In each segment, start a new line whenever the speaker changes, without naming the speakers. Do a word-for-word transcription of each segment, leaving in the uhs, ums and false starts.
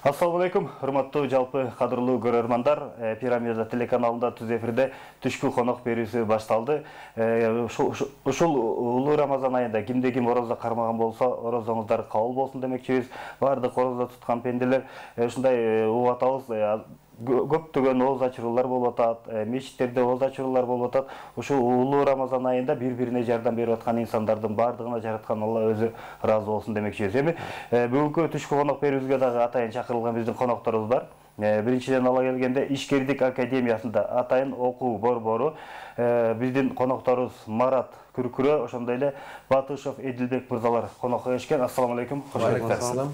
Ассаламу алейкум, урматтуу жалпы кадырлуу көрөрмандар. Пирамида телеканалында түз эфирде түшкү конок берүүсү башталды. Ушул улуу Рамазан айында кимде ким орозо кармаган болсо, орозоңуздар кабыл болсун демекчибиз. Бардык орозо туткан пенделер ушундай угуп атабыз. Көптөгөн ооз ачыруулар болуп атат, мечиттерде ооз ачыруулар болуп атат. Ушул улуу Рамазан айында бири-бирине жардам берип аткан инсандардын бардыгына жараткан Алла өзү ыраазы болсун демекчибиз. Эми бүгүнкү түшкү конок берүүбүзгө дагы атайын чакырылган биздин конокторубуз бар. Биринчиден ала келгенде Ишкердик академиясында атайын окуу борбору биздин конокторубуз Марат Күркүрө, ошондой эле Батышев Эдилбек мырзалар конокко келишкен. Ассаламу алейкум.
Кош келиңиздер.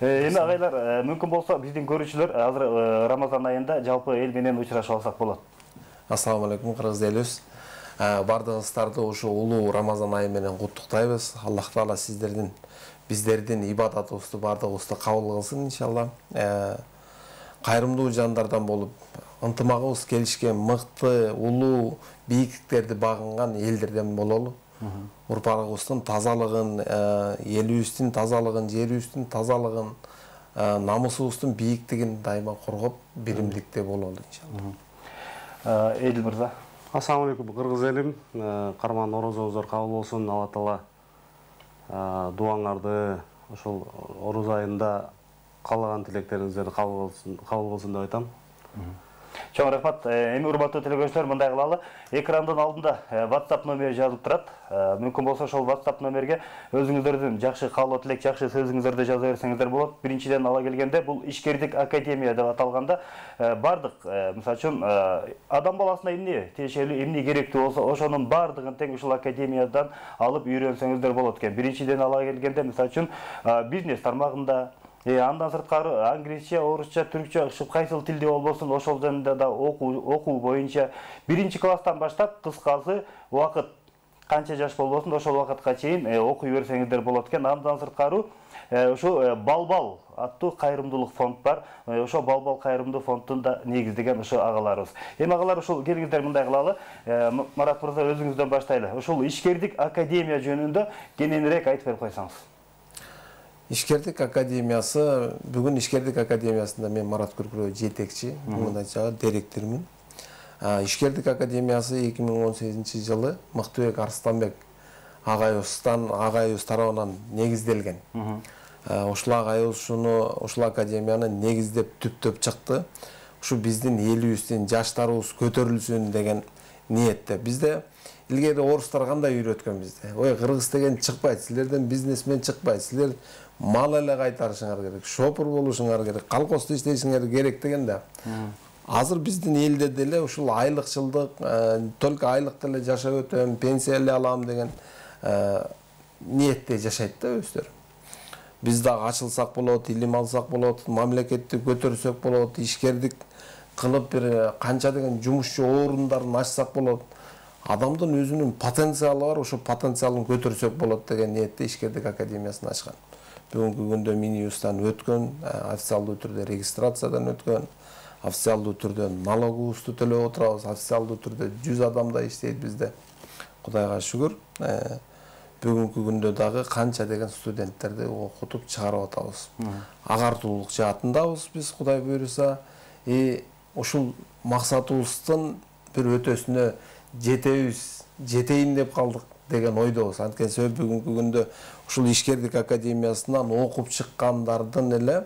Эми агайлар, мүмкүн болсо биздин көрүүчүлөр азыр Рамазан айында жалпы эл менен учурашып алсак болот.
Ассаламу алейкум, кыргыз элибиз. Бардыгыңыздарды ушу улуу Рамазан айы менен куттуктайбыз. Аллах таала сиздердин, биздердин ибадатыбызды бардыгыбызды кабыл кылсын иншалла. Кайрымдуу жандардан болуп, ынтымагыбыз келишкен, мыкты, улуу бийиктиктерди багынган элдерден бололу. Урпагыбыздын тазалыгын, элибиздин тазалыгын, жерибиздин тазалыгын, намысыбыздын бийиктигин дайыма коргоп, биримдикте бололу иншалла.
Эдил мырза.
Ассаламу алейкум, кыргыз элим. Карман орозоңуздар кабыл болсун. Алла таала дуаңарды ошол ороз айында каалаган тилектериңиздерди кабыл болсун деп айтам.
Чоң рахмат. Эми урматтуу телекөрүүчүлөр, мындай кылалы. Экрандын алдында WhatsApp номери жазылып турат. Мүмкүн болсо ошол WhatsApp номерге өзүңүздөрдүн жакшы каалоо тилек, жакшы сөзүңүздөрдү жаза берсеңиздер болот. Биринчиден ала келгенде бул Ишкердик академия деп аталганда бардык, мисалы үчүн адам баласына эмне тиешелүү, эмне керектүү болсо, ошонун бардыгын тең ушул академиядан алып үйрөнсөңүздөр болот экен. Биринчиден ала келгенде мисалы үчүн бизнес тармагында, андан сырткары англисче, орусча, түркчө, кайсыл тилде болбосун, ошол жөнүндө да окуу боюнча биринчи класстан баштап кыскасы убакыт канча жаш болбосун, ошол убакытка чейин окуй берсеңиздер болот экен. Андан сырткары ушу Балбал аттуу кайрымдуулук фонд бар. Ошо Балбал кайрымдуу фондун да негиздеген ушу агаларыбыз. Эми агалар, ушул келиңиздер мындай кылалы. Марат мырза, өзүңүздөн баштайлы. Ушул Ишкердик академия жөнүндө кененирээк айтып берип койсоңуз.
Ишкердик академиясы, бүгүн Ишкердик академиясында мен Марат Күркүрө жетекчи, мындайча директормун. Ишкердик академиясы эки миң он сегизинчи жылы Мыктыбек Арстанбек агайыбыздан, агайыбыз тарабынан негизделген. Ушул агайыбыз ушуну, ушул академияны негиздеп түптөп чыкты. Ушу биздин элибиздин жаштарыбыз көтөрүлсүн деген ниетте. Бизде илгери орустар кандай үйрөткөн бизде? Ой, кыргыз деген чыкпайт, силерден бизнесмен чыкпайт, силер мал эле кайтарышыңар керек, шопур болушуңар керек, колхозду иштешиңер керек дегенде. Азыр биздин элде деле ушул айлыкчылдык, только айлык эле жашап өтөм, пенсия эле алам деген ниетте жашайт да өздөрү. Биз дагы ачылсак болот, илим алсак болот, мамлекетти көтөрсөк болот, ишкердик кылып бир канча деген жумушчу орундарын ачсак болот. Адамдын өзүнүн потенциалы бар, ошо потенциалын көтөрсөк болот деген ниетте Ишкердик академиясын ачкан. Бүгүнкү күндө Минюстан өткөн, официалдуу түрдө регистрациядан өткөн, официалдуу түрдө налогубузду төлөп отурабыз, официалдуу түрдө жүз адамдай иштейт бизде. Кудайга шүгүр. Бүгүнкү күндө дагы канча деген студенттерди окутуп чыгарып атабыз. Агартуулук жаатындабыз биз, Кудай буйруса. И ушул максатыбыздын бир өтөсүнө жетебиз, жетейин деп калдык деген ойдобуз. Анткени себеп бүгүнкү күндө ушул Ишкердик академиясынан окуп чыккандардын эле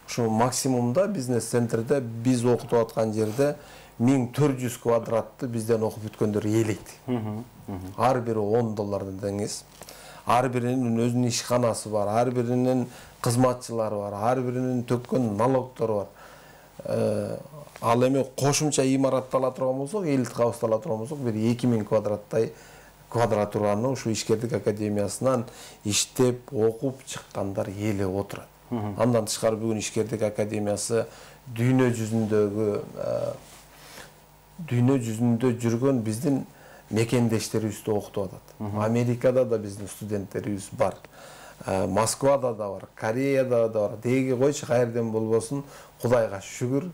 ушул максимумда бизнес центрде биз окутуп аткан жерде миң төрт жүз квадратты бизден окуп бүткөндөр ээлейт. Ар бири он доллардан деңиз. Ар биринин өзүнүн ишканасы бар, ар биринин кызматчылары бар, ар биринин төккөн налогтору бар. Ал эми кошумча имаратты ала турган болсок, элит кабызды ала турган болсок, бир эки миң квадраттай квадратураны ушу Ишкердик академиясынан иштеп, окуп чыккандар ээлеп отурат. Андан тышкары бүгүн Ишкердик академиясы дүйнө жүзүндөгү дүйнө жүзүндө жүргөн биздин мекендештерибизди окутуп атат. Америкада да биздин студенттерибиз бар. Москвада да бар, Кореяда да бар. Деги койчу, каерден болбосун, Кудайга шүгүр,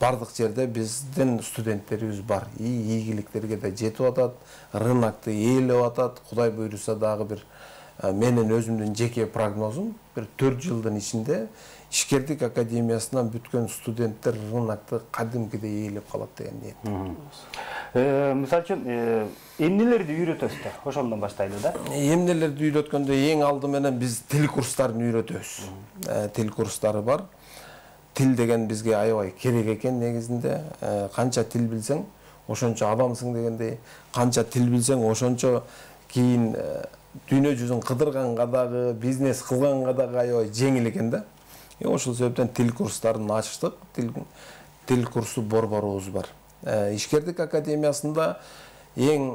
бардык жерде биздин студенттерибиз бар. И ийгиликтерге да жетип атат, рынокты ээлеп атат. Кудай буйруса дагы бир менин өзүмдүн жеке прогнозум бир төрт жылдын ичинде ишкердик академиясынан бүткөн студенттер рынокто кадимкидей ээлеп калат деген ниет.
Мисалы үчүн эмнелерди үйрөтөсүз? Ошондон баштайлы да.
Эмнелерди үйрөткөндө эң алды менен биз тил курстарын үйрөтөбүз. Тил курстары бар. Тил деген бизге аябай керек экен негизинде. Канча тил билсең, ошончо адамсың дегендей. Канча тил билсең, ошончо кийин дүйнө жүзүн кыдырганга дагы, бизнес кылганга дагы аябай жеңил экен да. Ошол себептен тил курстарын ачтык. Тил тил курсу борборубуз бар. Ишкердик академиясында эң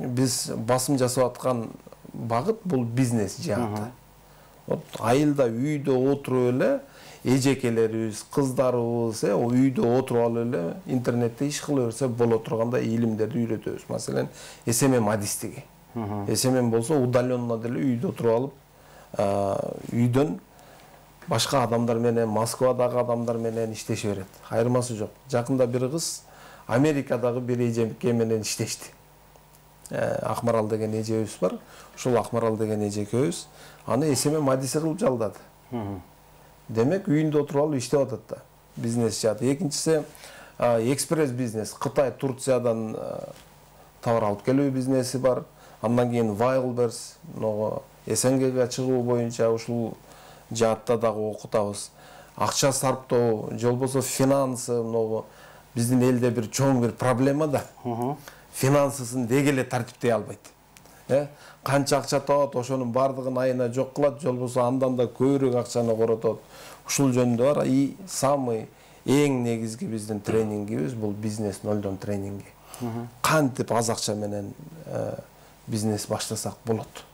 биз басым жасап аткан багыт бул бизнес жааты. Айылда үйдө отуруп эле эжекелерибиз, кыздарыбыз үйдө отуруп алып эле интернетте иш кыла берсе боло тургандай илимдерди үйрөтөбүз. Маселен, эс эм эм адистиги. эс эм эм болсо удаленно деле үйдө отуруп алып, үйдөн башка адамдар менен, Москвадагы адамдар менен иштеше берет. Айырмасы жок. Жакында бир кыз Америкадагы бир эжеке менен иштешти. Акмарал деген эжебиз бар. Ушул Акмарал деген эжекебиз аны эс эм эм адиси кылып жалдады. Демек, үйүндө отуруп алып иштеп атат да. Бизнес жааты. Экинчиси экспресс бизнес. Кытай, Турциядан товар алып келүү бизнеси бар. Андан кийин Wildberries, могу эс эн гге чыгуу боюнча ушул жаатта дагы окутабыз. Акча сарптоо, же болбосо финансы, могу биздин элде бир чоң бир проблема да. Финансысын деги эле тартиптей албайт. Э? Канча акча табат, ошонун бардыгын айына жок кылат, же болбосо андан да көбүрөөк акчаны коротот. Ушул жөнүндө бар. И самый эң негизги биздин тренингибиз бул бизнес нолдон тренинги. Кантип аз акча менен бизнес баштасак болот.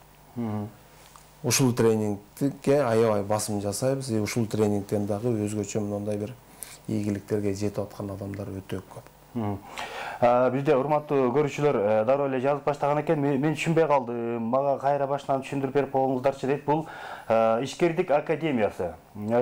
Ушул тренингге аябай басым жасайбыз. Ушул тренингден дагы өзгөчө мындай бир ийгиликтерге жетип аткан адамдар өтө көп.
Бизде урматтуу көрүүчүлөр дароо эле жазып баштаган экен. Мен түшүнбөй калдым. Мага кайра башынан түшүндүрүп берип коюңуздарчы дейт. Бул ишкердик академиясы.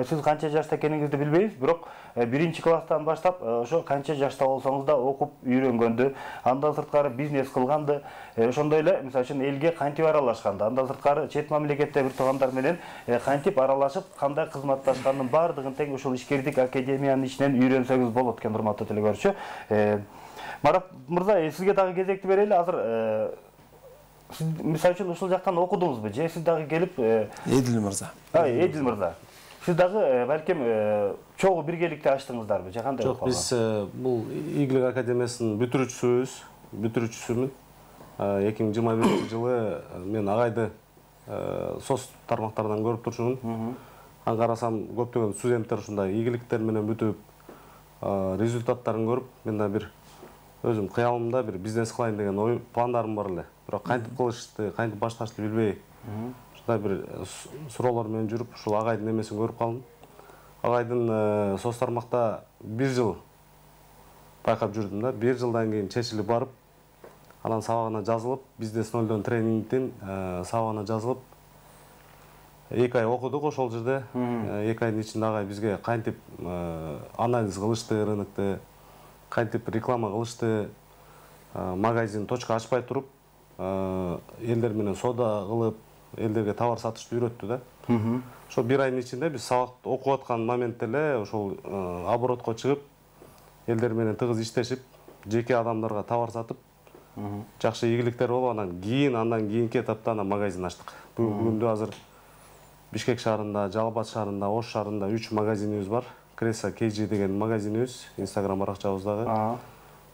Сиз канча жашта экениңизди билбейбиз, бирок биринчи класстан баштап ошо канча жашта болсоңуз да окуп үйрөнгөндү, андан сырткары бизнес кылганды, ошондой эле мисалы үчүн элге кантип аралашканды, андан сырткары чет мамлекетте бир туугандар менен кантип аралашып, кандай кызматташкандын бардыгын тең ушул ишкердик академиянын ичинен үйрөнсөңүз болот экен, урматтуу телекөрүүчү. Марат мырза, сизге дагы кезекти берели. Азыр сиз мисалы үчүн ушул жактан окудуңузбу же сиз дагы келип
Эдил мырза.
Эдил мырза. Сиз дагы балким чогуу биргеликте ачтыңыздарбы же кандай?
Жок, биз бул Ийгилик академиясынын бүтүрүүчүсүбүз, бүтүрүүчүсүмүн. эки миң жыйырма биринчи жылы мен агайды соц тармактарынан көрүп турчумун. Аны карасам көптөгөн студенттер ушундай ийгиликтер менен бүтүп, результаттарын көрүп, мен да бир өзүм кыялымда бир бизнес кылайын деген ой, пландарым бар эле. Бирок кантип кылышты, кантип башташты билбей, ушундай бир суроолор менен жүрүп, ушул агайдын немесин көрүп калдым. Агайдын соц тармакта бир жыл байкап жүрдүм да. Бир жылдан кийин чечилип барып, анан сабагына жазылып, бизнес нолдон тренингдин сабагына жазылып, эки ай окудук ошол жерде. эки айдын ичинде агай бизге кантип анализ кылышты рынокты, кантип реклама кылышты, магазин, точка ачпай туруп, элдер менен соода кылып, элдерге товар сатышты үйрөттү да. Ошо бир айдын ичинде биз сабак окуп аткан моментте эле ошол оборотко чыгып, элдер менен тыгыз иштешип, жеке адамдарга товар сатып, жакшы ийгиликтер болуп, анан кийин андан кийинки этапта анан магазин ачтык. Бүгүндө азыр Бишкек шаарында, Жалал Абад шаарында, Ош шаарында үч магазинибиз бар. Кресса кей джи деген магазинибиз, Инстаграм баракчабыздагы.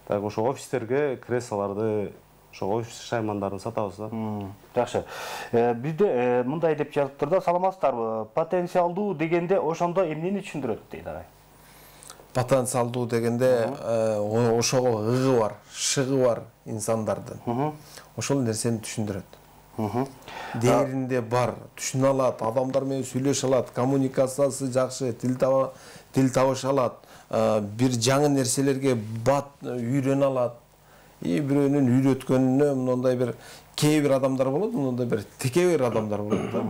Так ошо офистерге крессаларды, ошо офис шаймандарын сатабыз да.
Жакшы. Бизде мындай деп жазыптыр да, саламатсыздарбы? Потенциалдуу дегенде ошондо эмнени түшүндүрөт дейт агай?
Потенциалдуу дегенде ошого ыгы бар, шыгы бар инсандардын. Ошол нерсени түшүндүрөт. Дээринде бар, түшүнө алат, адамдар менен сүйлөшө алат, коммуникациясы жакшы, тил таба, тил табыша алат, бир жаңы нерселерге бат үйрөнө алат. И бирөөнүн үйрөткөнүнө мындай бир кээ бир адамдар болот, мындай бир тике бир адамдар болот да.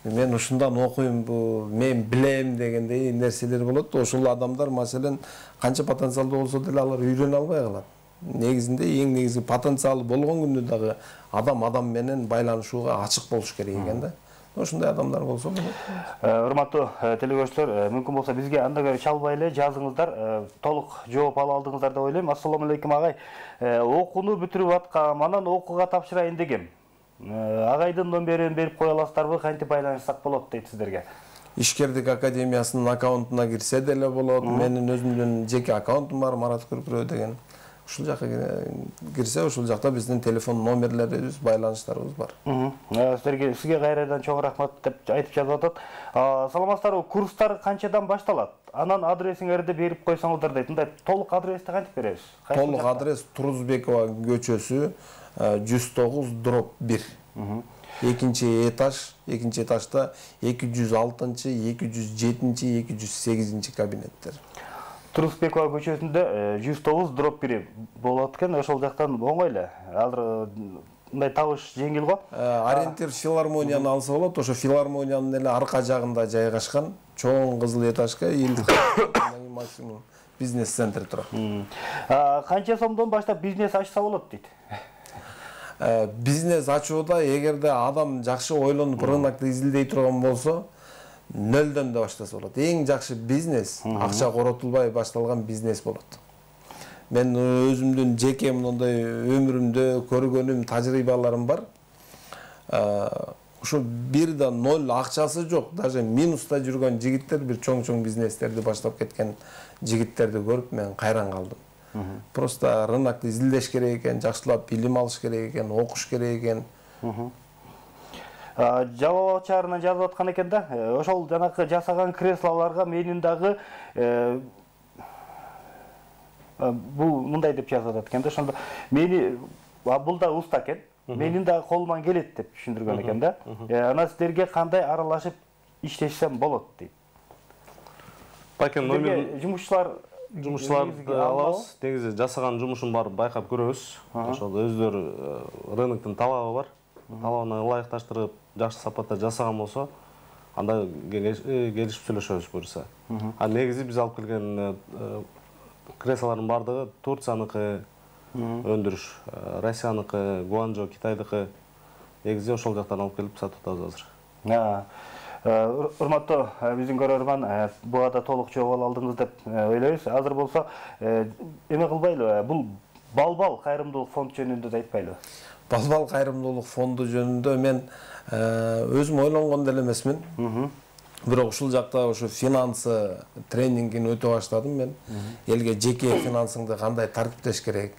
Мен ушундан окуйм, бу мен билем дегендей нерселер болот. Ошол адамдар маселен канча потенциалдуу болсо деле алар үйрөнө албай калат. негизинде эң негизги потенциалы болгон күндө дагы адам адам менен байланышууга ачык болуш керек экен да. Ошондой адамдар болсо болот.
Урматтуу телекөрүүчүлөр, мүмкүн болсо бизге анда көрө чалбай эле жазыңыздар, толук жооп ала алдыңыздар деп ойлойм. Ассаламу алейкум агай. Окууну бүтүрүп аткам, анан окууга тапшырайын дегем. Агайдын номерин берип кое аласыздарбы, кантип байланышсак болот дейт сиздерге?
Ишкердик академиясынын аккаунтуна кирсе деле болот. Менин өзүмдүн жеке аккаунтум бар, Марат Күркүрөө деген. Ушул жакка кирсе, ушул жакта биздин телефон номерлерибиз, байланыштарыбыз бар.
Сиздерге сизге кайрадан чоң рахмат деп айтып жазып атат. Саламатсыздарбы, курстар канчадан башталат? Анан адресиңерди берип койсоңуздар дейт. Мындай толук адрести кантип беребиз?
Толук адрес Турузбекова көчөсү жүз тогуз дробь бир. Экинчи этаж, экинчи этажда эки жүз алтынчы, эки жүз жетинчи, эки жүз сегизинчи кабинеттер.
Турузбекова көчөсүндө жүз тогуз дробь бир болот экен, ошол жактан оңой эле. Азыр мындай табыш жеңил го.
Ориентир филармонияны алса болот, ошо филармониянын эле арка жагында жайгашкан чоң кызыл этажга максимум бизнес-центр турат.
Канча сомдон баштап бизнес ачса болот дейт?
Бизнес ачууда эгерде адам жакшы ойлонуп рынокты изилдей турган болсо, нөлдөн да баштаса болот. Эң жакшы бизнес акча коротулбай башталган бизнес болот. Мен өзүмдүн жеке мындай өмүрүмдө көргөнүм, тажрыйбаларым бар. Ошо бир да ноль акчасы жок, даже минуста жүргөн жигиттер, бир чоң-чоң бизнестерди баштап кеткен жигиттерди көрүп мен кайран калдым. Просто рынокты изилдеш керек экен, жакшылап билим алыш керек экен, окуш керек экен.
Жалал Абад шаарынан жазып аткан экен да, ошол жанакы жасаган креслолорго менин дагы бул мындай деп жазып атат экен да, ошондо мени бул да уста экен, менин дагы колуман келет деп түшүндүргөн экен да. Анан сиздерге кандай аралашып иштешсем болот дейт.
Бакен номер
жумушчулар
жумушчуларды алабыз. Негизи жасаган жумушун барып байкап көрөбүз. Ошол өздөрү рыноктун талабы бар. Талабына ылайыкташтырып, жакшы сапатта жасаган болсо, анда келишип сүйлөшөбүз буюрса. А негизи биз алып келген креслолордун бардыгы Турцияныкы өндүрүш, Россияныкы, Гуанчжоу, Китайдыкы. Негизи ошол жактан алып келип сатып атабыз азыр.
Урматтуу биздин көрөрман, буга да толук жооп ала алдыңыз деп ойлойбуз. Азыр болсо эме кылбайлы, бул Балбал кайрымдуулук фонд жөнүндө да айтпайлы.
Балбал кайрымдуулук фонду жөнүндө мен өзүм ойлонгон деле эмесмин. Бирок ушул жакта ошо финансы тренингин өтө баштадым мен. Элге жеке финансыңды кандай тартиптеш керек,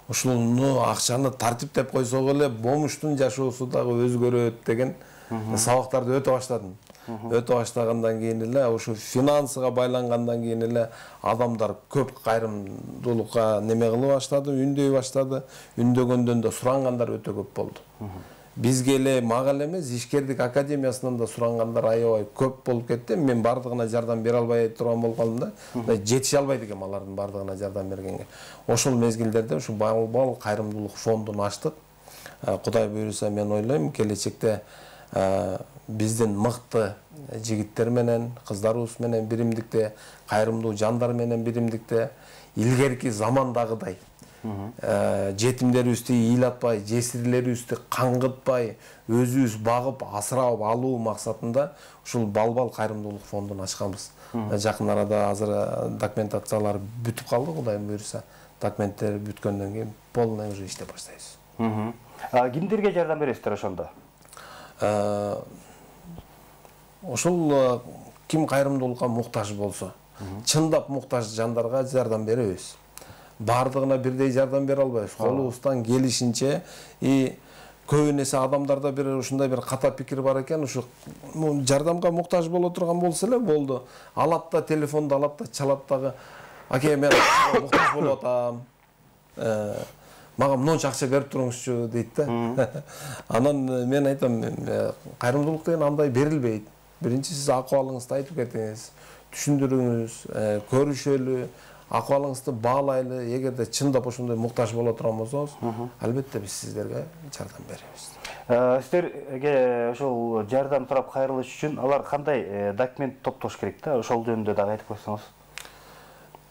ушуну акчаны тартиптеп койсок эле бомуштун жашоосу дагы өзгөрөт деген сабактарды өтө баштадым. Өтө баштагандан кийин эле ошо финансыга байлангандан кийин эле адамдар көп кайрымдуулукка неме кылып баштады, үндөй баштады. Үндөгөндөн да сурангандар өтө көп болду. Бизге эле мага эле эмес, Ишкердик академиясынан да сурангандар аябай көп болуп кетти. Мен бардыгына жардам бере албай турган болуп калдым да. Жетише албайт экем алардын бардыгына жардам бергенге. Ошол мезгилдерде ушу Балбал кайрымдуулук фондун ачтык. Кудай буйруса мен ойлойм, келечекте биздин мыкты жигиттер менен, кыздарыбыз менен биримдикте, кайрымдуу жандар менен биримдикте илгерки замандагыдай жетимдерибизди ыйлатпай, жесирлерибизди каңгытпай, өзүбүз багып, асырап алуу максатында ушул Балбал кайрымдуулук фондун ачканбыз. Жакын арада азыр документациялар бүтүп калды, Кудай буйруса. Документтер бүткөндөн кийин полный уже иштеп баштайбыз.
Кимдерге жардам бересиздер ошондо?
Ошол ким кайрымдуулукка муктаж болсо, чындап муктаж жандарга жардам беребиз. Бардыгына бирдей жардам бере албайбыз. Колубуздан келишинче, и көбүн эсе адамдарда бир ушундай бир ката пикир бар экен, ушу жардамга муктаж боло турган болсо эле болду. Алат да телефонду алат да чалат дагы, аке мен муктаж болуп атам. Мага мынча акча берип туруңузчу дейт да. Анан мен айтам, кайрымдуулук деген андай берилбейт. Биринчи сиз акыбалыңызды айтып кетиңиз, түшүндүрүңүз, көрүшөлү, акыбалыңызды баалайлы. Эгерде чындап ошондой муктаж боло турган болсоңуз, албетте биз сиздерге жардам беребиз.
Сиздерге ошол жардам сурап кайрылыш үчүн алар кандай документ топтош керек да? Ошол жөнүндө дагы айтып койсоңуз.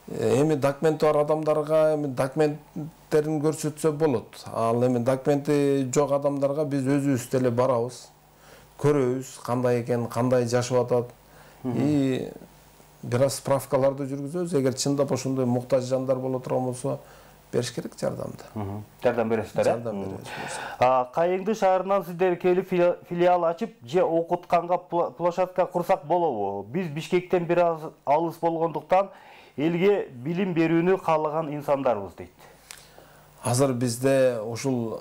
эми документи бар адамдарга эми документтерин көрсөтсө болот. Ал эми документи жок адамдарга биз өзүбүз деле барабыз, көрөбүз кандай экен, кандай жашап атат. И бир аз справкаларды жүргүзөбүз. Эгер чындап ошондой муктаж жандар боло турган болсо, бериш керек жардамды.
Жардам бересиздер, э?
Жардам беребиз.
Кайыңды шаарынан сиздер келип филиал ачып, же окутканга площадка курсак болобу? Биз Бишкектен бир аз алыс болгондуктан элге билим берүүнү каалаган инсандарбыз дейт.
Азыр бизде ушул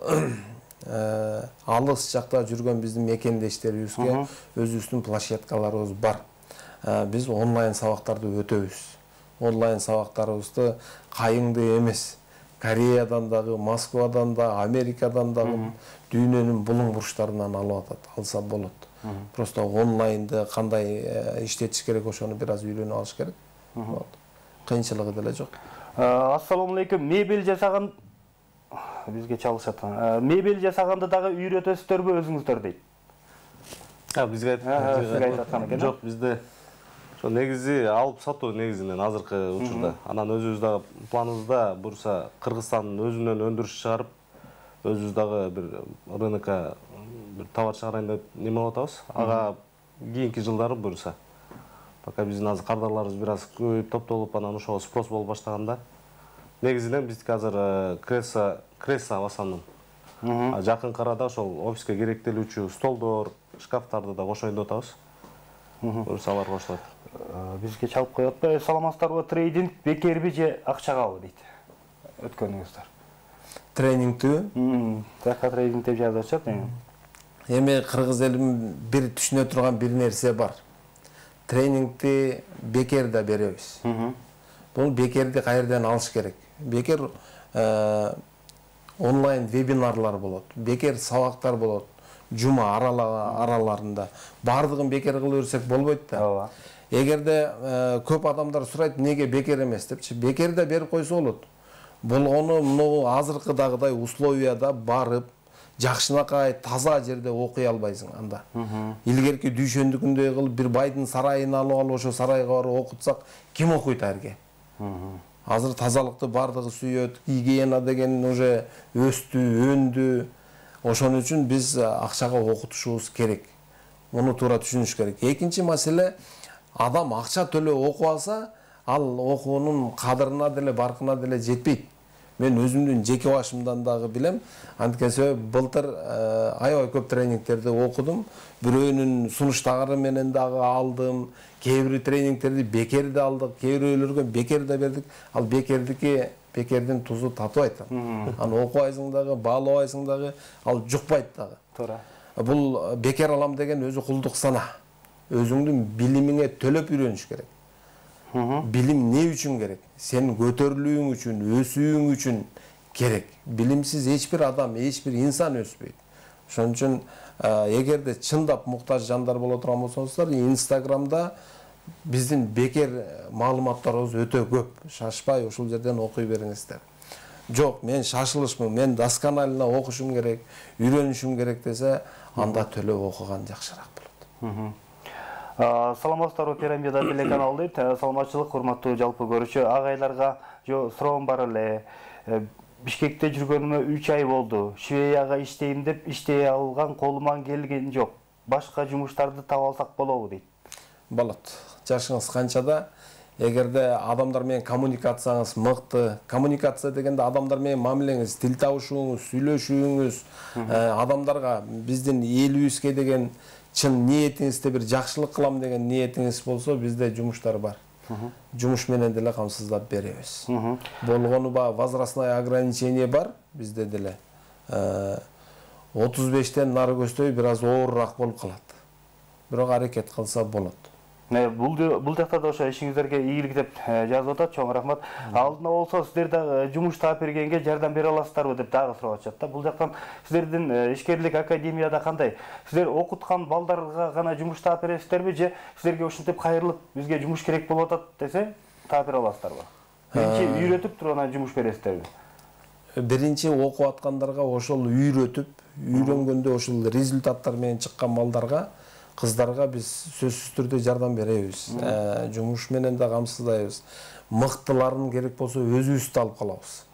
алыс жакта жүргөн биздин мекендештерибизге өзүбүздүн площадкаларыбыз бар. Биз онлайн сабактарды өтөбүз. Онлайн сабактарыбызды Кайыңды эмес, Кореядан дагы, Москвадан да, Америкадан дагы дүйнөнүн булуң бурчтарынан алып атат, алса болот. Просто онлайнды кандай иштетиш керек, ошону бир аз үйрөнүп алыш керек. Кыйынчылыгы деле жок.
Ассаламу алейкум. Мебель жасаган бизге чалышат. Мебель жасаганды дагы үйрөтөсүздөрбү өзүңүздөр дейт.
Бизге айтып жок, бизде ошо негизи алып сатуу негизинен азыркы учурда. Анан өзүбүз дагы планыбызда бурса Кыргызстандын өзүнөн өндүрүш чыгарып, өзүбүз дагы бир рынокко бир товар чыгарайын деп неме атабыз. Ага кийинки жылдары бурса. Пока биздин азыр кардарларыбыз бир аз көбөйүп топтолуп, анан ошого спрос боло баштаганда негизинен биздики азыр кресло, кресло в основном. Жакынкы арада ошол офиске керектелүүчү столдор, шкафтарды да кошоюн деп атабыз. Бурса алар кошулат.
Бизге чалып коюп атпайбы? Саламатсыздарбы? Трейдинг бекерби же акчагабы дейт. Өткөнүңүздөр.
Тренингтүү?
Жакка трейдинг деп жазып атышат.
Эми кыргыз элим бир түшүнө турган бир нерсе бар. Тренингти бекер да беребиз. Бул бекерди кайерден алыш керек? Бекер онлайн вебинарлар болот, бекер сабактар болот, жума араларында. Бардыгын бекер кыла берсек болбойт да. Эгерде көп адамдар сурайт, неге бекер эмес депчи, бекер да берип койсо болот. Болгону мына азыркыдагыдай условияда барып, жакшынакай таза жерде окуй албайсың анда. Илгерки дүйшөндүкүндөй кылып бир байдын сарайын алып алып, ошо сарайга барып окутсак, ким окуйт арге? Азыр тазалыкты бардыгы сүйөт, гигиена деген уже өстү, өндү. Ошон үчүн биз акчага окутушубуз керек. Муну туура түшүнүш керек. Экинчи маселе, адам акча төлөп окуп алса, ал окуунун кадырына деле, баркына деле жетпейт. Мен өзүмдүн жеке башымдан дагы билем. Анткени былтыр аябай көп тренингтерди окудум. Бирөөнүн сунуштагары менен дагы алдым. Кээ бир тренингтерди бекер да алдык, кээ бирөөлөргө бекер да бердик. Ал бекердики бекердин тузу татыбайт. Аны окубайсың дагы, баалабайсың дагы, ал жукпайт дагы.
Туура.
Бул бекер алам деген өзү кулдук сана. Өзүңдүн билимиңе төлөп үйрөнүш керек. Билим не үчүн керек? Сен көтөрүлүүң үчүн, өсүүң үчүн керек. Билимсиз эч бир адам, эч бир инсан өспөйт. Ошон үчүн эгерде чындап муктаж жандар боло турган болсоңуздар, Инстаграмда биздин бекер маалыматтарыбыз өтө көп. Шашпай ушул жерден окуй бериңиздер. Жок, мен шашылышмын, мен досконально окушум керек, үйрөнүшүм керек десе, анда төлөп окуган жакшыраак болот.
Саламатсыздарбы, Пирамида телеканалы дейт. Саламатчылык, урматтуу жалпы көрүүчү агайларга суроом бар эле. Бишкекте жүргөнүмө үч ай болду. Швеяга иштейм деп иштей алган, колуман келген жок. Башка жумуштарды таба алсак болобу дейт.
Болот. Жашыңыз канчада? Эгерде адамдар менен коммуникацияңыз мыкты, коммуникация дегенде адамдар менен мамилеңиз, тил табышууңуз, сүйлөшүүңүз, адамдарга биздин элибизге деген чын ниетиңизде бир жакшылык кылам деген ниетиңиз болсо, бизде жумуштар бар. Жумуш менен деле камсыздап беребиз. Болгону ба возрастное ограничение бар bizde деле. отуз бештен нары көздөй бир аз оорураак болуп калат. Бирок аракет кылса болот.
Бул бул жакта да ошо ишиңиздерге ийгилик деп жазып атат. Чоң рахмат. Алдына болсо сиздер да жумуш таап бергенге жардам бере аласыздарбы деп дагы сурап атышат да. Бул жактан сиздердин ишкерлик академияда кандай? Сиздер окуткан балдарга гана жумуш таап бересиздерби же сиздерге ушинтип кайрылып бизге жумуш керек болуп атат десе таап бере аласыздарбы? Биринчи үйрөтүп туруп анан жумуш бересиздерби?
Биринчи окуп аткандарга ошол үйрөтүп, үйрөнгөндө ошол результаттар менен чыккан балдарга кыздарга биз сөзсүз түрдө жардам беребиз. Жумуш менен да камсыздайбыз. Мыктыларын керек болсо өзүбүз алып калабыз.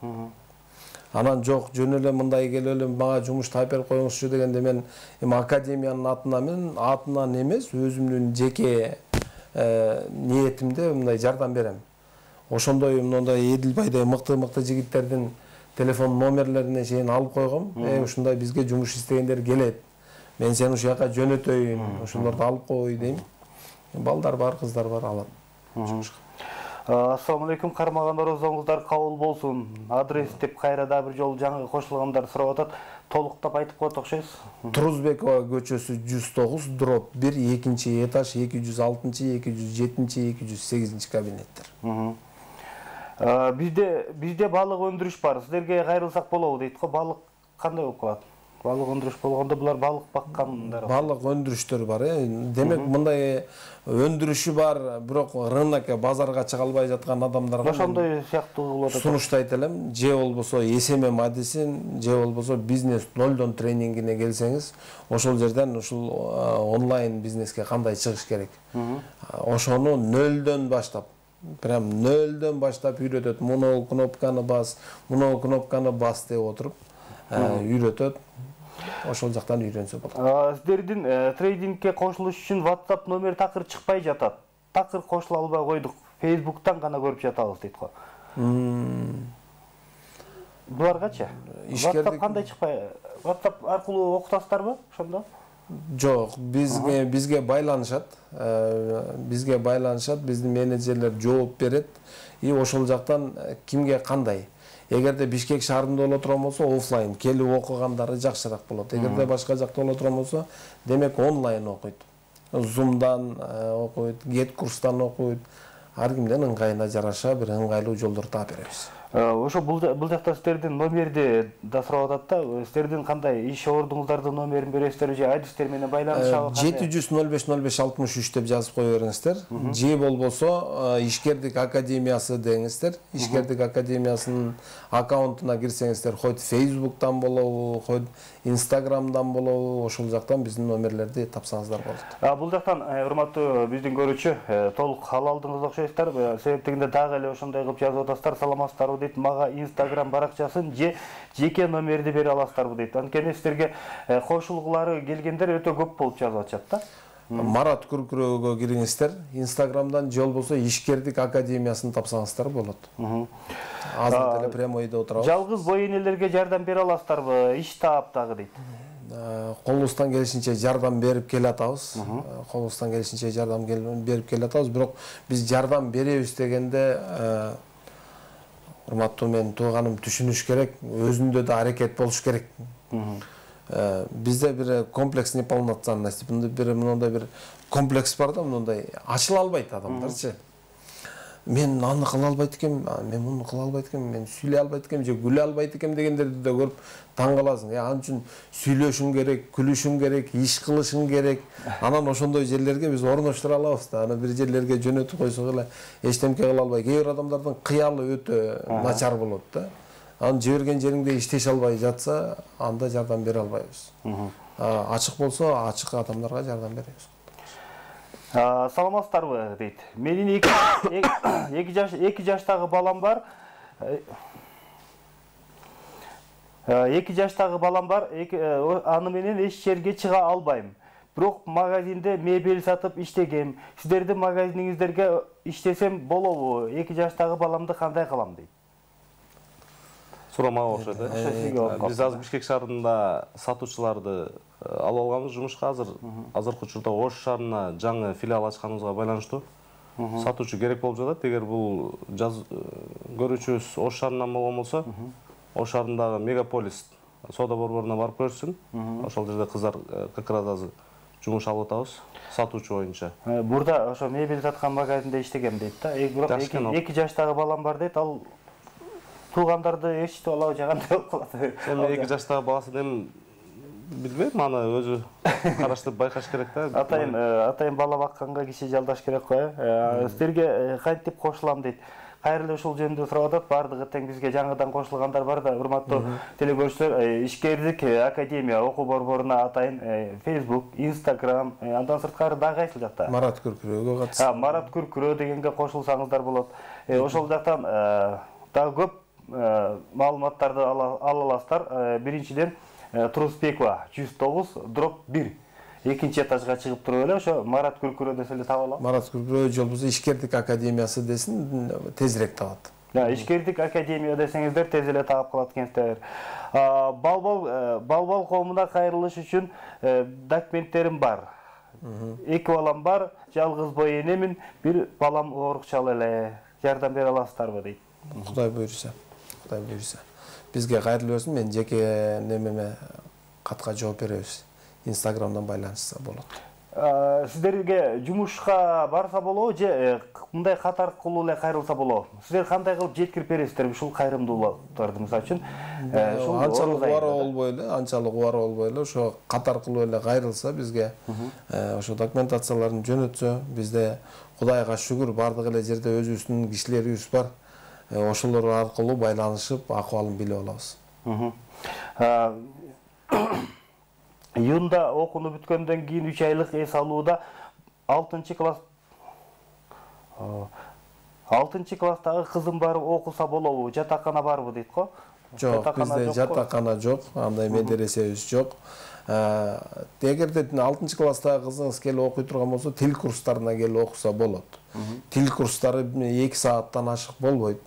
Анан жок, жөн эле мындай келип эле мага жумуш таап берип коюңузчу дегенде мен эми академиянын атынан мен атынан эмес, өзүмдүн жеке ниетимде мындай жардам берем. Ошондой мындай Эдилбайдай мыкты-мыкты жигиттердин телефон номерлерине чейин алып койгом. Э, ушундай бизге жумуш истегендер келет. Мен сени ушул жака жөнөтөйүн, ошолорду алып кой дейм. Балдар бар, кыздар бар, алат.
Ассаламу алейкум, кармагандарыңыздар кабыл болсун. Адрес деп кайра да бир жолу жаңы кошулгандар сурап атат. Толуктап айтып коет окшойсуз.
Турузбекова көчөсү жүз тогуз дробь бир, экинчи этаж, эки жүз алтынчы, эки жүз жетинчи, эки жүз сегизинчи кабинеттер.
Бизде бизде балык өндүрүш бар. Силерге кайрылсак болобу дейт го. Балык кандай болуп калат? Балык өндүрүш болгондо булар балык баккандар.
Балык өндүрүштөр бар, э. Демек мындай өндүрүшү бар, бирок рынокко, базарга чыга албай жаткан адамдарга
ошондой сыяктуу болот.
Сунуштайт элем, же болбосо эс эм эм адисин, же болбосо бизнес нолдон тренингине келсеңиз, ошол жерден ушул онлайн бизнеске кандай чыгыш керек. Ошону нөлдөн баштап, прям нөлдөн баштап үйрөтөт. Муну кнопканы бас, муну кнопканы бас деп отуруп үйрөтөт. Ошол жактан үйрөнсө болот.
Сиздердин трейдингке кошулуш үчүн WhatsApp номер такыр чыкпай жатат. Такыр кошула албай койдук. Facebook'тан гана көрүп жатабыз дейт го. Буларгачы? WhatsApp кандай чыкпай? WhatsApp аркылуу окутасыздарбы ошондо?
Жок, бизге бизге байланышат. Бизге байланышат, биздин менеджерлер жооп берет. И ошол жактан кимге кандай? Эгерде Бишкек шаарында боло турган болсо, офлайн келип окугандары жакшыраак болот. Эгерде башка жакта боло турган болсо, демек онлайн окуйт. Zoom'дан окуйт, Get курстан окуйт. Ар кимдин ыңгайына жараша бир ыңгайлуу жолдор таап беребиз.
Ошо бул жакта сиздердин номерди да сурап атат да, сиздердин кандай иш ордуңуздардын номерин бересиздер же адистер менен байланышабы?
жети жүз ноль беш ноль беш алтымыш үч деп жазып кое бериңиздер. Же болбосо ишкердик академиясы деңиздер. Ишкердик академиясынын аккаунтуна кирсеңиздер, хоть Facebook'тан болобу, хоть Instagram'дан болобу, ошол жактан биздин номерлерди тапсаңыздар болот.
Бул жактан урматтуу биздин көрүүчү, толук ала алдыңыз окшойсуздар. Себептигинде дагы эле ошондой кылып жазып атасыздар. Саламатсыздарбы дейт, мага Instagram баракчасын же жеке номерди бере аласыздарбы дейт. Анткени сиздерге кошулгулары келгендер өтө көп болуп жазып атышат да.
Марат Күркүрөөгө кириңиздер. Инстаграмдан же болбосо Ишкердик академиясын тапсаңыздар болот. Азыр деле прямойдо отурабыз.
Жалгыз бой энелерге жардам бере аласыздарбы? Иш таап дагы дейт.
Колубуздан келишинче жардам берип келатабыз. Колубуздан келишинче жардам берип келатабыз, бирок биз жардам беребиз дегенде урматтуу менин тууганым түшүнүш керек, өзүндө да аракет болуш керек. Бизде бир комплекс неполноценности, бир мындай бир комплекс бар да, мындай ачыла албайт адамдарчы. Мен аны кыла албайт экем, мен муну кыла албайт экем, мен сүйлөй албайт экем же күлө албайт экем дегендерди да көрүп таң каласың. Ал үчүн сүйлөшүң керек, күлүшүң керек, иш кылышың керек. Анан ошондой жерлерге биз орноштура алабыз да. Аны бир жерлерге жөнөтүп койсок эле эчтемке кыла албай, кээ бир адамдардын кыялы өтө начар болот да. Анын жиберген жериңде иштеше албай жатса, анда жардам бере албайбыз. Ачык болсо, ачык адамдарга жардам беребиз.
Саламатсыздарбы дейт. Менин эки жаштагы балам бар. эки жаштагы балам бар. Аны менен эч жерге чыга албайм. Бирок магазинде мебель сатып иштегем. Сиздердин магазиниңиздерге иштесем болобу? эки жаштагы баламды кандай кылам дейт.
Сурамага окшойт э. Биз азыр Бишкек шаарында сатуучуларды алып алганбыз жумушка. Азыр азыркы учурда Ош шаарына жаңы филиал ачканыбызга байланыштуу сатуучу керек болуп жатат. Эгер бул көрүүчүбүз Ош шаарынан болгон болсо, Ош шаарындагы мегаполис соода борборуна барып көрсүн. Ошол жерде кыздар как раз азыр жумуш алып атабыз сатуучу боюнча.
Бурда ошо мебель саткан магазинде иштегем дейт да. Бирок эки жаштагы балам бар дейт. Ал туугандарды эчтип алабы же кандай болуп калат?
Эми эки жаштагы баласы эми билбейм, аны өзү караштырып байкаш керек да.
Атайын атайын бала бакканга киши жалдаш керек го. Сиздерге кантип кошулам дейт. кайрылуу ушул жөнүндө сурап атат. Бардыгы тең бизге жаңыдан кошулгандар бар да, урматтуу телекөрүүчүлөр, ишкердик академия окуу борборуна атайын Facebook, Instagram, андан сырткары дагы кайсыл жакта?
Марат Күркүрөөгө катышты.
Марат Күркүрөө дегенге кошулсаңыздар болот. Ошол жактан дагы көп маалыматтарды ала аласыздар. Биринчиден Турусбекова жүз тогуз дробь бир. Экинчи этажга чыгып туруп эле ошо Марат Күркүрөө десе эле таба алам.
Марат Күркүрөө жолбузу ишкердик академиясы десин, тезирээк табат.
Ишкердик академия десеңиздер тез эле таап калат экенсиздер. Балбал балбал коомуна кайрылыш үчүн документтерим бар. Эки балам бар, жалгыз бой энемин, бир балам оорукчал эле. Жардам бере аласыздарбы дейт.
Кудай буйруса. Кудай буйруса. Бизге кайрылып берсин, мен жеке немеме катка жооп беребиз. Инстаграмдан байланышса болот.
Сиздерге жумушка барса болобу же мындай кат аркылуу эле кайрылса болобу? Сиздер кандай кылып жеткирип бересиздер ушул кайрымдуулуктарды, мисалы үчүн?
Анчалык убара болбой эле, анчалык убара болбой эле, ошо кат аркылуу эле кайрылса бизге, ошо документацияларын жөнөтсө, бизде Кудайга шүгүр бардык эле жерде өзүбүздүн кишилерибиз бар. Ошолор аркылуу байланышып, акыбалын билип алабыз.
Июнда окууну бүткөндөн кийин үч айлык эс алууда алтынчы класс алтынчы класстагы кызым барып окуса болобу? Жатакана барбы дейт го?
Жок, бизде жатакана жок, андай медресебиз жок. Эгерде алтынчы класстагы кызыңыз келип окуй турган болсо, тил курстарына келип окуса болот. Тил курстары эки сааттан ашык болбойт.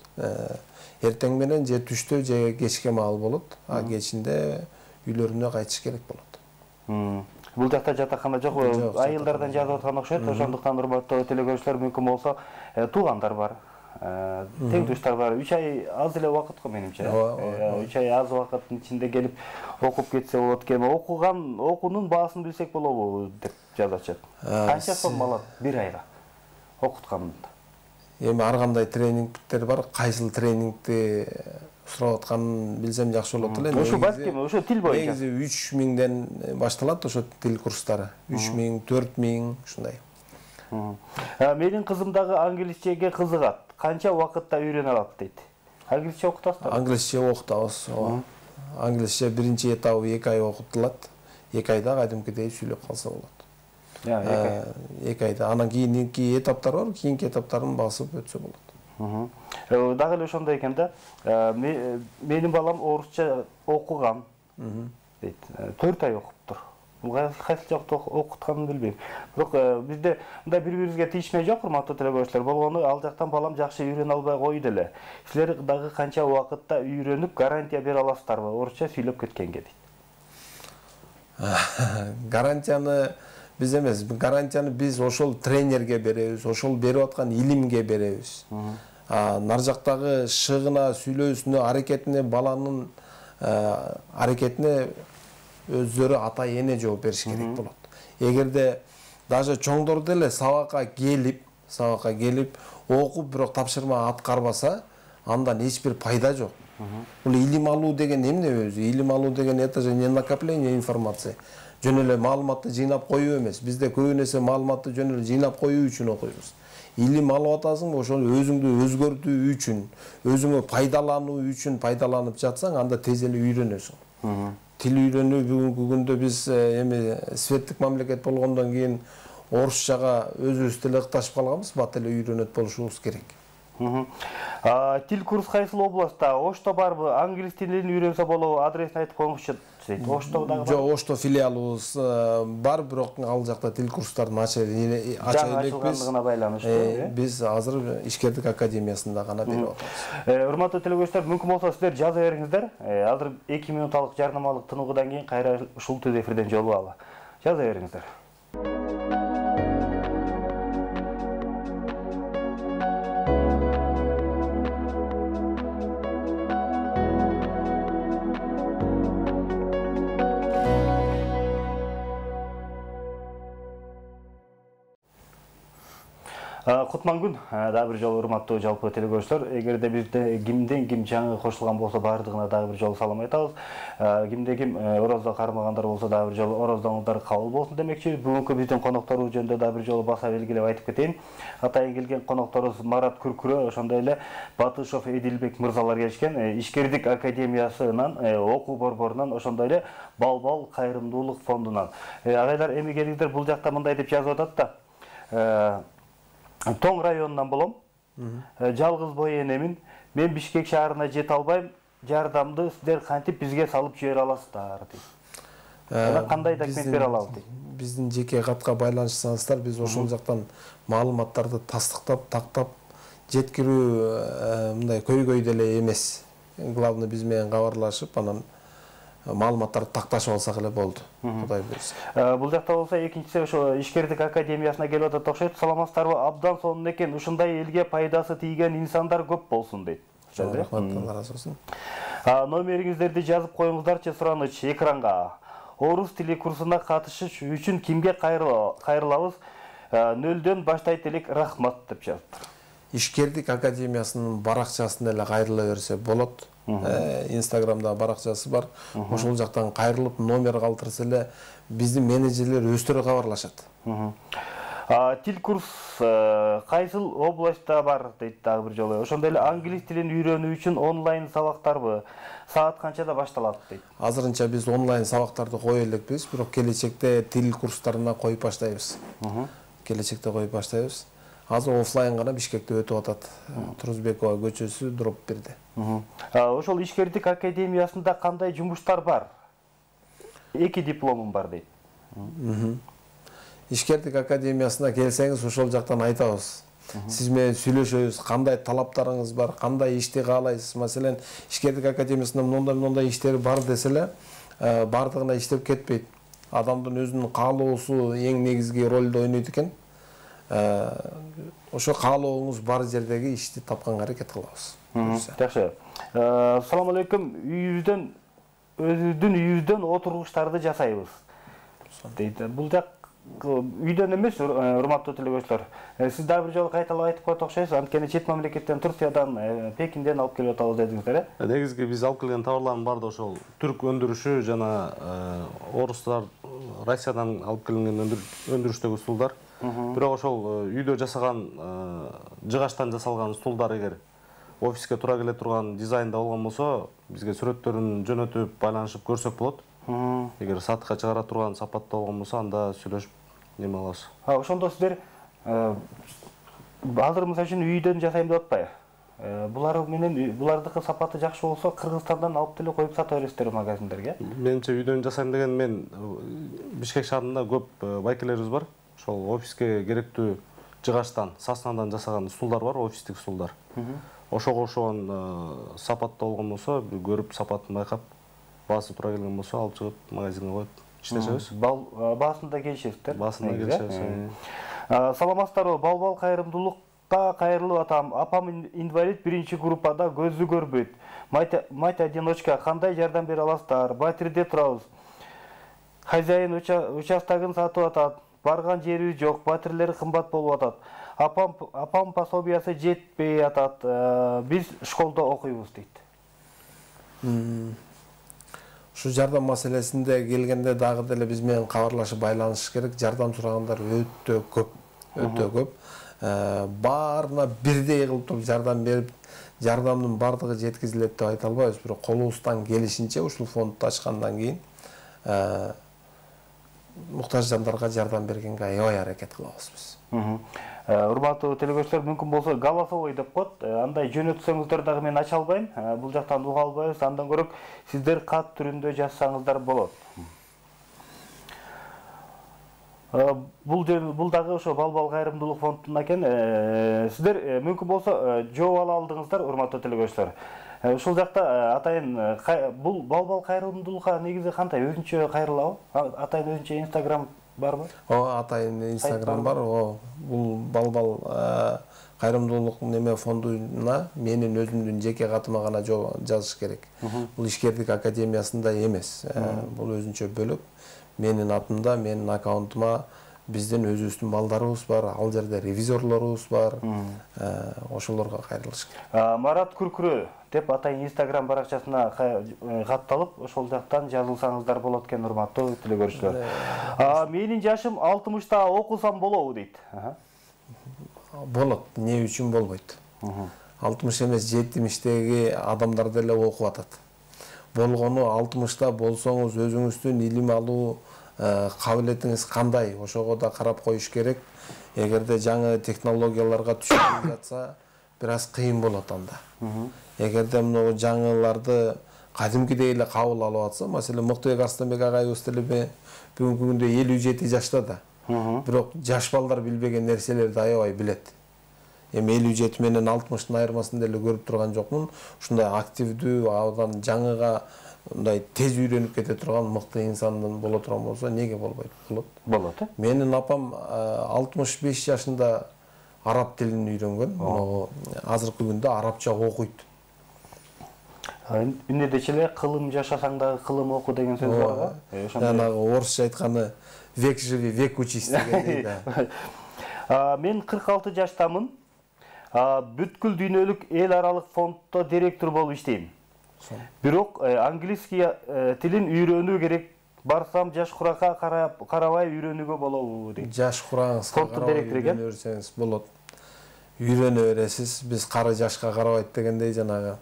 Эртең менен же түштө же кечке маал болот, а кечинде үйлөрүнө кайтыш керек болот.
Бул жакта жатакана жок, айылдардан жазып аткан окшойт. Ошондуктан урматтуу телекөрүүчүлөр, мүмкүн болсо туугандар бар, тең туштар бар. үч ай аз эле убакыт го менимче. үч ай аз убакыттын ичинде келип окуп кетсе болот экен. Окуган окуунун баасын билсек болобу деп жазачат. Канча сом алат бир айга окутканында?
Эми ар кандай тренингдер бар, кайсыл тренингди сурап атканын билсем жакшы болот эле.
Ошо балким, ошо тил боюнча.
Негизи үч миңден башталат ошо тил курстары. үч миң, төрт миң ушундай.
Менин кызым дагы англисчеге кызыгат. Канча убакытта үйрөнө алат дейт. Англисче окутасызбы?
Англисче окутабыз. Англисче биринчи этабы эки ай окутулат. эки айда кадимкидей сүйлөп калса болот. эки айда. Анан кийинки этаптар бар, кийинки этаптарын басып өтсө болот.
Дагы эле ошондой экен да. Менин балам орусча окуган дейт. төрт ай окуптур. Бул кайсы жакта окутканын билбейм. Бирок бизде мындай бири-бирибизге тийишме жок, урматтуу телекөрүүчүлөр. Болгону ал жактан балам жакшы үйрөнө албай койду эле. Силер дагы канча убакытта үйрөнүп гарантия бере аласыздарбы орусча сүйлөп кеткенге дейт.
Гарантияны биз эмес, гарантияны биз ошол тренерге беребиз, ошол берип аткан илимге беребиз. Нар жактагы шыгына, сүйлөөсүнө, аракетине, баланын аракетине өздөрү ата эне жооп бериш керек болот. Эгерде даже чоңдор деле сабакка келип, сабакка келип окуп, бирок тапшырма аткарбаса, андан эч бир пайда жок. Бул илим алуу деген эмне өзү? Илим алуу деген это же не накопление информации. Жөн эле маалыматты жыйнап коюу эмес. Бизде көбүн эсе маалыматты жөн эле жыйнап коюу үчүн окуйбуз. Илим алып атасың, ошону өзүңдү өзгөртүү үчүн, өзүңө пайдалануу үчүн пайдаланып жатсаң, анда тез эле үйрөнөсүң. Тил үйрөнүү бүгүнкү күндө биз эми светтик мамлекет болгондон кийин орусчага өзүбүз деле ыкташып калганбыз, бат эле үйрөнөт болушубуз керек.
Тил курс кайсыл областта? Ошто барбы? Англис тилин үйрөнсө болобу? Адресин айтып коюңузчу. Ошто дагы бар.
Жок, Ошто филиалыбыз бар, бирок ал жакта тил курстарын ача элекпиз. Биз азыр ишкердик академиясында гана берип атабыз.
Урматтуу телекөрүүчүлөр, мүмкүн болсо сиздер жаза бериңиздер. Азыр эки минуталык жарнамалык тыныгуудан кийин кайра ушул түз эфирден жолугалы. Жаза бериңиздер. Кутман күн, дагы бир жолу урматтуу жалпы телекөрүүчүлөр, эгерде бизде кимден ким жаңы кошулган болсо баардыгына дагы бир жолу салам айтабыз. Кимде ким орозо кармагандар болсо дагы бир жолу ороздоңуздар кабыл болсун демекчи. Бүгүнкү биздин конокторубуз жөнүндө дагы бир жолу баса белгилеп айтып кетейин. Атайын келген конокторубуз Марат Күркүрө, ошондой эле Батышов Эдилбек мырзалар келишкен. Ишкердик академиясынан, окуу борборунан, ошондой эле Балбал кайрымдуулук фондунан. Агайлар, эми келиңиздер, бул жакта мындай деп жазып атат да. Тоң районунан болом. Жалгыз бой энемин. Мен Бишкек шаарына жете албайм. Жардамды сиздер кантип бизге салып жибере аласыздар дейт. Кандай документ бере алабыз дейт.
Биздин жеке катка байланышсаңыздар, биз ошол жактан маалыматтарды тастыктап, тактап жеткирүү мындай көйгөй деле эмес. Главный биз менен кабарлашып, анан маалыматтарды такташып алсак эле болду. Кудай буйрса.
Бул жакта болсо экинчиси ошо Ишкердик академиясына келип атат окшойт. Саламатсыздарбы? Абдан сонун экен. Ушундай элге пайдасы тийген инсандар көп болсун дейт.
Рахмат, Алла разы болсун.
Номериңиздерди жазып коюңуздарчы, сураныч экранга. Орус тили курсуна катышыш үчүн кимге кайрылабыз? Нөлдөн баштайт элек, рахмат деп жазыптыр.
Ишкердик академиясынын баракчасына эле кайрыла берсе болот. Инстаграмда баракчасы бар. Ошол жактан кайрылып номер калтырса эле биздин менеджерлер өздөрү кабарлашат.
Тил курс кайсыл областта бар дейт дагы бир жолу. Ошондой эле англис тилин үйрөнүү үчүн онлайн сабактарбы? Саат канчада башталат дейт.
Азырынча биз онлайн сабактарды кое элекпиз, бирок келечекте тил курстарына коюп баштайбыз. Келечекте коюп баштайбыз. Азыр офлайн гана Бишкекте өтүп атат. Турузбекова көчөсү, дроп бирде.
Ошол Ишкердик академиясында кандай жумуштар бар? Эки дипломум бар дейт.
Ишкердик академиясына келсеңиз, ошол жактан айтабыз. Сиз менен сүйлөшөбүз, кандай талаптарыңыз бар, кандай ишти каалайсыз. Маселен, Ишкердик академиясында мындай-мындай иштери бар десе эле, бардыгына иштеп кетпейт. Адамдын өзүнүн каалоосу эң негизги ролду ойнойт экен. Ошо каалооңуз бар жердеги ишти тапканга аракет кылабыз.
Жакшы. Салам алейкум. Үйүбүздөн өзүбүздүн үйүбүздөн отургучтарды жасайбыз. Дейт. Бул жак үйдөн эмес, урматтуу телекөрүүчүлөр. Сиз дагы бир жолу кайталап айтып коет окшойсуз. Анткени чет мамлекеттен, Турциядан, Пекинден алып келип атабыз дедиңиздер, э?
Негизги биз алып келген товарлардын баары да ошол түрк өндүрүшү жана орустар Россиядан алып келинген өндүрүштөгү стулдар. Бирок ошол үйдө жасаган жыгачтан жасалган стулдар эгер офиске туура келе турган дизайнда болгон болсо, бизге сүрөттөрүн жөнөтүп, байланышып көрсөк болот. Эгер сатыкка чыгара турган сапатта болгон болсо, анда сүйлөшүп неме алабыз.
Ошондо сиздер азыр мисалы үчүн үйдөн жасайм деп атпайбы? Булар менен булардыкы сапаты жакшы болсо, Кыргызстандан алып деле коюп сата бересиздер магазиндерге?
Менимче үйдөн жасайм деген, мен Бишкек шаарында көп байкелерибиз бар. Ошол офиске керектүү жыгачтан, соснадан жасаган стулдар бар, офистик стулдар. Ошого окшогон сапатта болгон болсо, көрүп сапатын байкап, баасы туура келген болсо, алып чыгып магазинге коюп иштешебиз.
Баасында келишесиздер?
Баасында келишебиз.
Саламатсыздарбы? Балбал кайрымдуулукка кайрылып атам. Апам инвалид биринчи группада, көзү көрбөйт. Мать одиночка, кандай жардам бере аласыздар? Батирде турабыз. Хозяин участогун сатып атат. Барган жерибиз жок, батирлери кымбат болуп атат. Апам апам пособиясы жетпей атат. Биз школдо окуйбуз дейт.
Ушу жардам маселесинде келгенде дагы деле биз менен кабарлашып байланыш керек. Жардам сурагандар өтө көп, өтө көп. Баарына бирдей кылып туруп жардам берип, жардамдын бардыгы жеткизилет деп айта албайбыз. Бирок колубуздан келишинче ушул фондду ачкандан кийин муктаж жандарга жардам бергенге аябай аракет кылабыз биз.
Урматтуу телекөрүүчүлөр, мүмкүн болсо голосовой деп коет. Андай жөнөтсөңүздөр дагы мен ача албайм. Бул жактан уга албайбыз. Андан көрөк сиздер кат түрүндө жазсаңыздар болот. Бул бул дагы ошо Балбал кайрымдуулук фондунан экен. Сиздер мүмкүн болсо жооп ала алдыңыздар, урматтуу телекөрүүчүлөр. Ушул жакта атайын бул Балбал кайрымдуулукка негизи кандай өзүнчө кайрылабы? Атайын өзүнчө Инстаграм барбы?
О, атайын Инстаграм бар. О, бул Балбал кайрымдуулук неме фондуна менин өзүмдүн жеке катыма гана жазыш керек. Бул Ишкердик академиясында эмес. Бул өзүнчө бөлөк. Менин атымда, менин аккаунтума биздин өзүбүздүн балдарыбыз бар, ал жерде ревизорлорубуз бар. Ошолорго кайрылыш керек.
Марат Күркүрө деп атайын Instagram баракчасына катталып, ошол жактан жазылсаңыздар болот экен, урматтуу теле көрүүчүлөр. Менин жашым алтымышта окусам болобу дейт.
Болот, эмне үчүн болбойт? алтымыш эмес, жетимиштеги адамдар деле окуп атат. Болгону алтымышта болсоңуз өзүңүздүн илим алуу кабилетиңиз кандай, ошого да карап коюш керек. Эгерде жаңы технологияларга түшүнүп жатса, бир аз кыйын болот анда. Эгерде мына жаңыларды кадимкидей эле кабыл алып атса, маселен Мыктыбек Арстанбек агайыбыз деле бүгүнкү күндө элүү жети жашта да. Бирок жаш балдар билбеген нерселерди аябай билет. Эми элүү жети менен алтымыштын айырмасын деле көрүп турган жокмун. Ушундай активдүү, абдан жаңыга мындай тез үйрөнүп кете турган мыкты инсандын боло турган болсо, эмнеге болбойт? Болот.
Болот, э?
Менин апам алтымыш беш жашында араб тилин үйрөнгөн. Могу азыркы күндө арабча окуйт.
Үнөдөчү эле кылым жашасаң дагы кылым оку деген сөз бар го.
Жанагы орусча айтканы век живи, век учись дегендей да.
Мен кырк алты жаштамын. Бүткүл дүйнөлүк эл аралык фонддо директор болуп иштейм. Бирок английский тилин үйрөнүү керек. Барсам жаш куракка карабай үйрөнүүгө болобу дейт.
Жаш курагыңызга карабай үйрөнөрсөңүз болот. Үйрөнө бересиз. Биз кары жашка карабайт дегендей, жанагы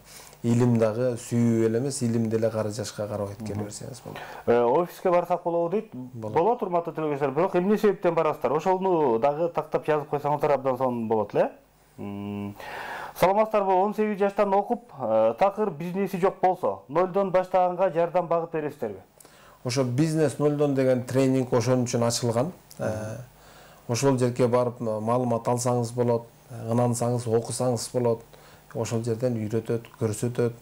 илим дагы сүйүү эле эмес, илим деле кары жашка карабайт, келе берсеңиз болот.
Офиске барсак болобу дейт. Болот, урматтуу телегөзөр. Бирок эмне себептен барасыздар? Ошону дагы тактап жазып койсоңуздар абдан сонун болот эле. Саламатсыздарбы? он сегиз жаштан окуп, такыр бизнеси жок болсо, нолдон баштаганга жардам багып бересиздерби?
Ошо бизнес нолдон деген тренинг ошон үчүн ачылган. Ошол жерге барып маалымат алсаңыз болот, ынансаңыз окусаңыз болот. Ошол жерден үйрөтөт, көрсөтөт.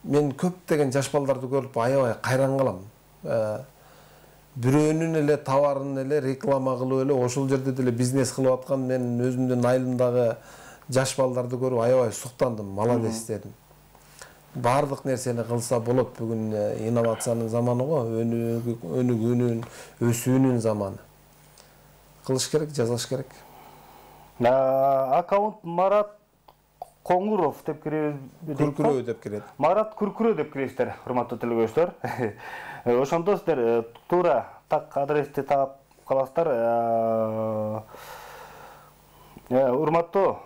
Мен көптөгөн жаш балдарды көрүп аябай кайран калам. Бирөөнүн эле товарын эле реклама кылып эле ошол жерде деле бизнес кылып аткан мен өзүмдүн айылымдагы жаш балдарды көрүп аябай суктандым, молодец дедим. Бардык нерсени кылса болот. Бүгүн инновациянын заманы го, өнүгүүнүн, өсүүнүн заманы. Кылыш керек, жазыш керек.
Аккаунт Марат Коңуров деп киребиз.
Күркүрөө деп кирет.
Марат Күркүрөө деп киресиздер, урматтуу телегөзчүлөр. Ошондо сиздер туура так адрести таап каласыздар. Урматтуу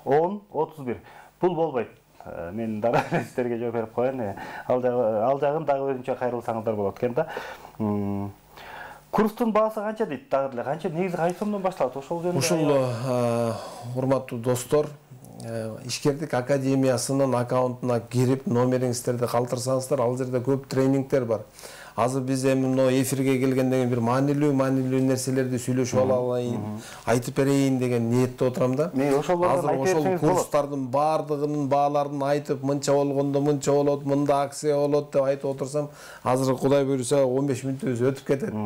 он отуз бир. Бул болбойт. Мен дагы сиздерге жооп берип коеюн. Ал жагын дагы өзүнчө кайрылсаңыздар болот экен да. Курстун баасы канча дейт? Дагы деле канча, негизи кайсы сомдон башталат? Ошол жөнүндө.
Ушул урматтуу достор, Ишкердик академиясынын аккаунтуна кирип, номериңиздерди калтырсаңыздар, ал жерде көп тренингдер бар. Азыр биз эми мына эфирге келгенден кийин бир маанилүү, маанилүү нерселерди сүйлөшүп алайын, айтып берейин деген ниетте отурам да.
Мен ошолордон айтып берсеңиз болот.
Курстардын баардыгынын бааларын айтып, мынча болгондо мынча болот, мында акция болот деп айтып отурсам, азыр Кудай буйруса он беш мүнөтүбүз өтүп кетет.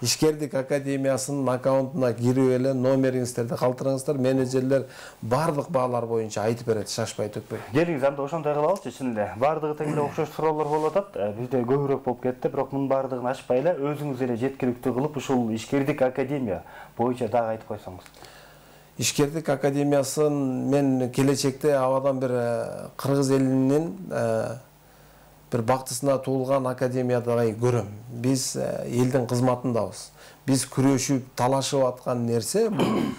Ишкердик академиясынын аккаунтуна кирип эле номериңиздерди калтырыңыздар, менеджерлер баардык баалар боюнча айтып берет, шашпай төкпөй.
Келиңиз, анда ошондой кылалычы, чын эле. Баардыгы тең эле окшош суроолор болуп атат. Бизде көбүрөөк болуп кетти, бирок мунун баардыгын ачпай эле өзүңүз эле жеткиликтүү кылып, ушул Ишкердик академия боюнча дагы айтып койсоңуз.
Ишкердик академиясын мен келечекте абадан бир кыргыз элинин бир бактысына туулган академиядай көрөм. Биз элдин кызматындабыз. Биз күрөшүп, талашып аткан нерсе бул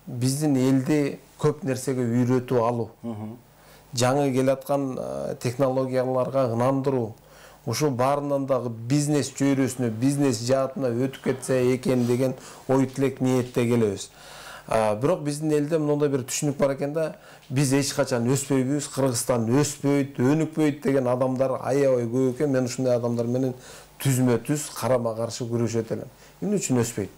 биздин элди көп нерсеге үйрөтүп алуу. Жаңы келаткан технологияларга ынандыруу. Ушул баарынан дагы бизнес чөйрөсүнө, бизнес жаатына өтүп кетсе экен деген ой тилек ниетте келебиз. Бирок биздин элде мындай бир түшүнүк бар экен да, биз эч качан өспөйбүз, Кыргызстан өспөйт, өнүкпөйт деген адамдар аябай көп экен. Мен ушундай адамдар менен түзмө-түз карама-каршы күрөшөт элем. Эмне үчүн өспөйт?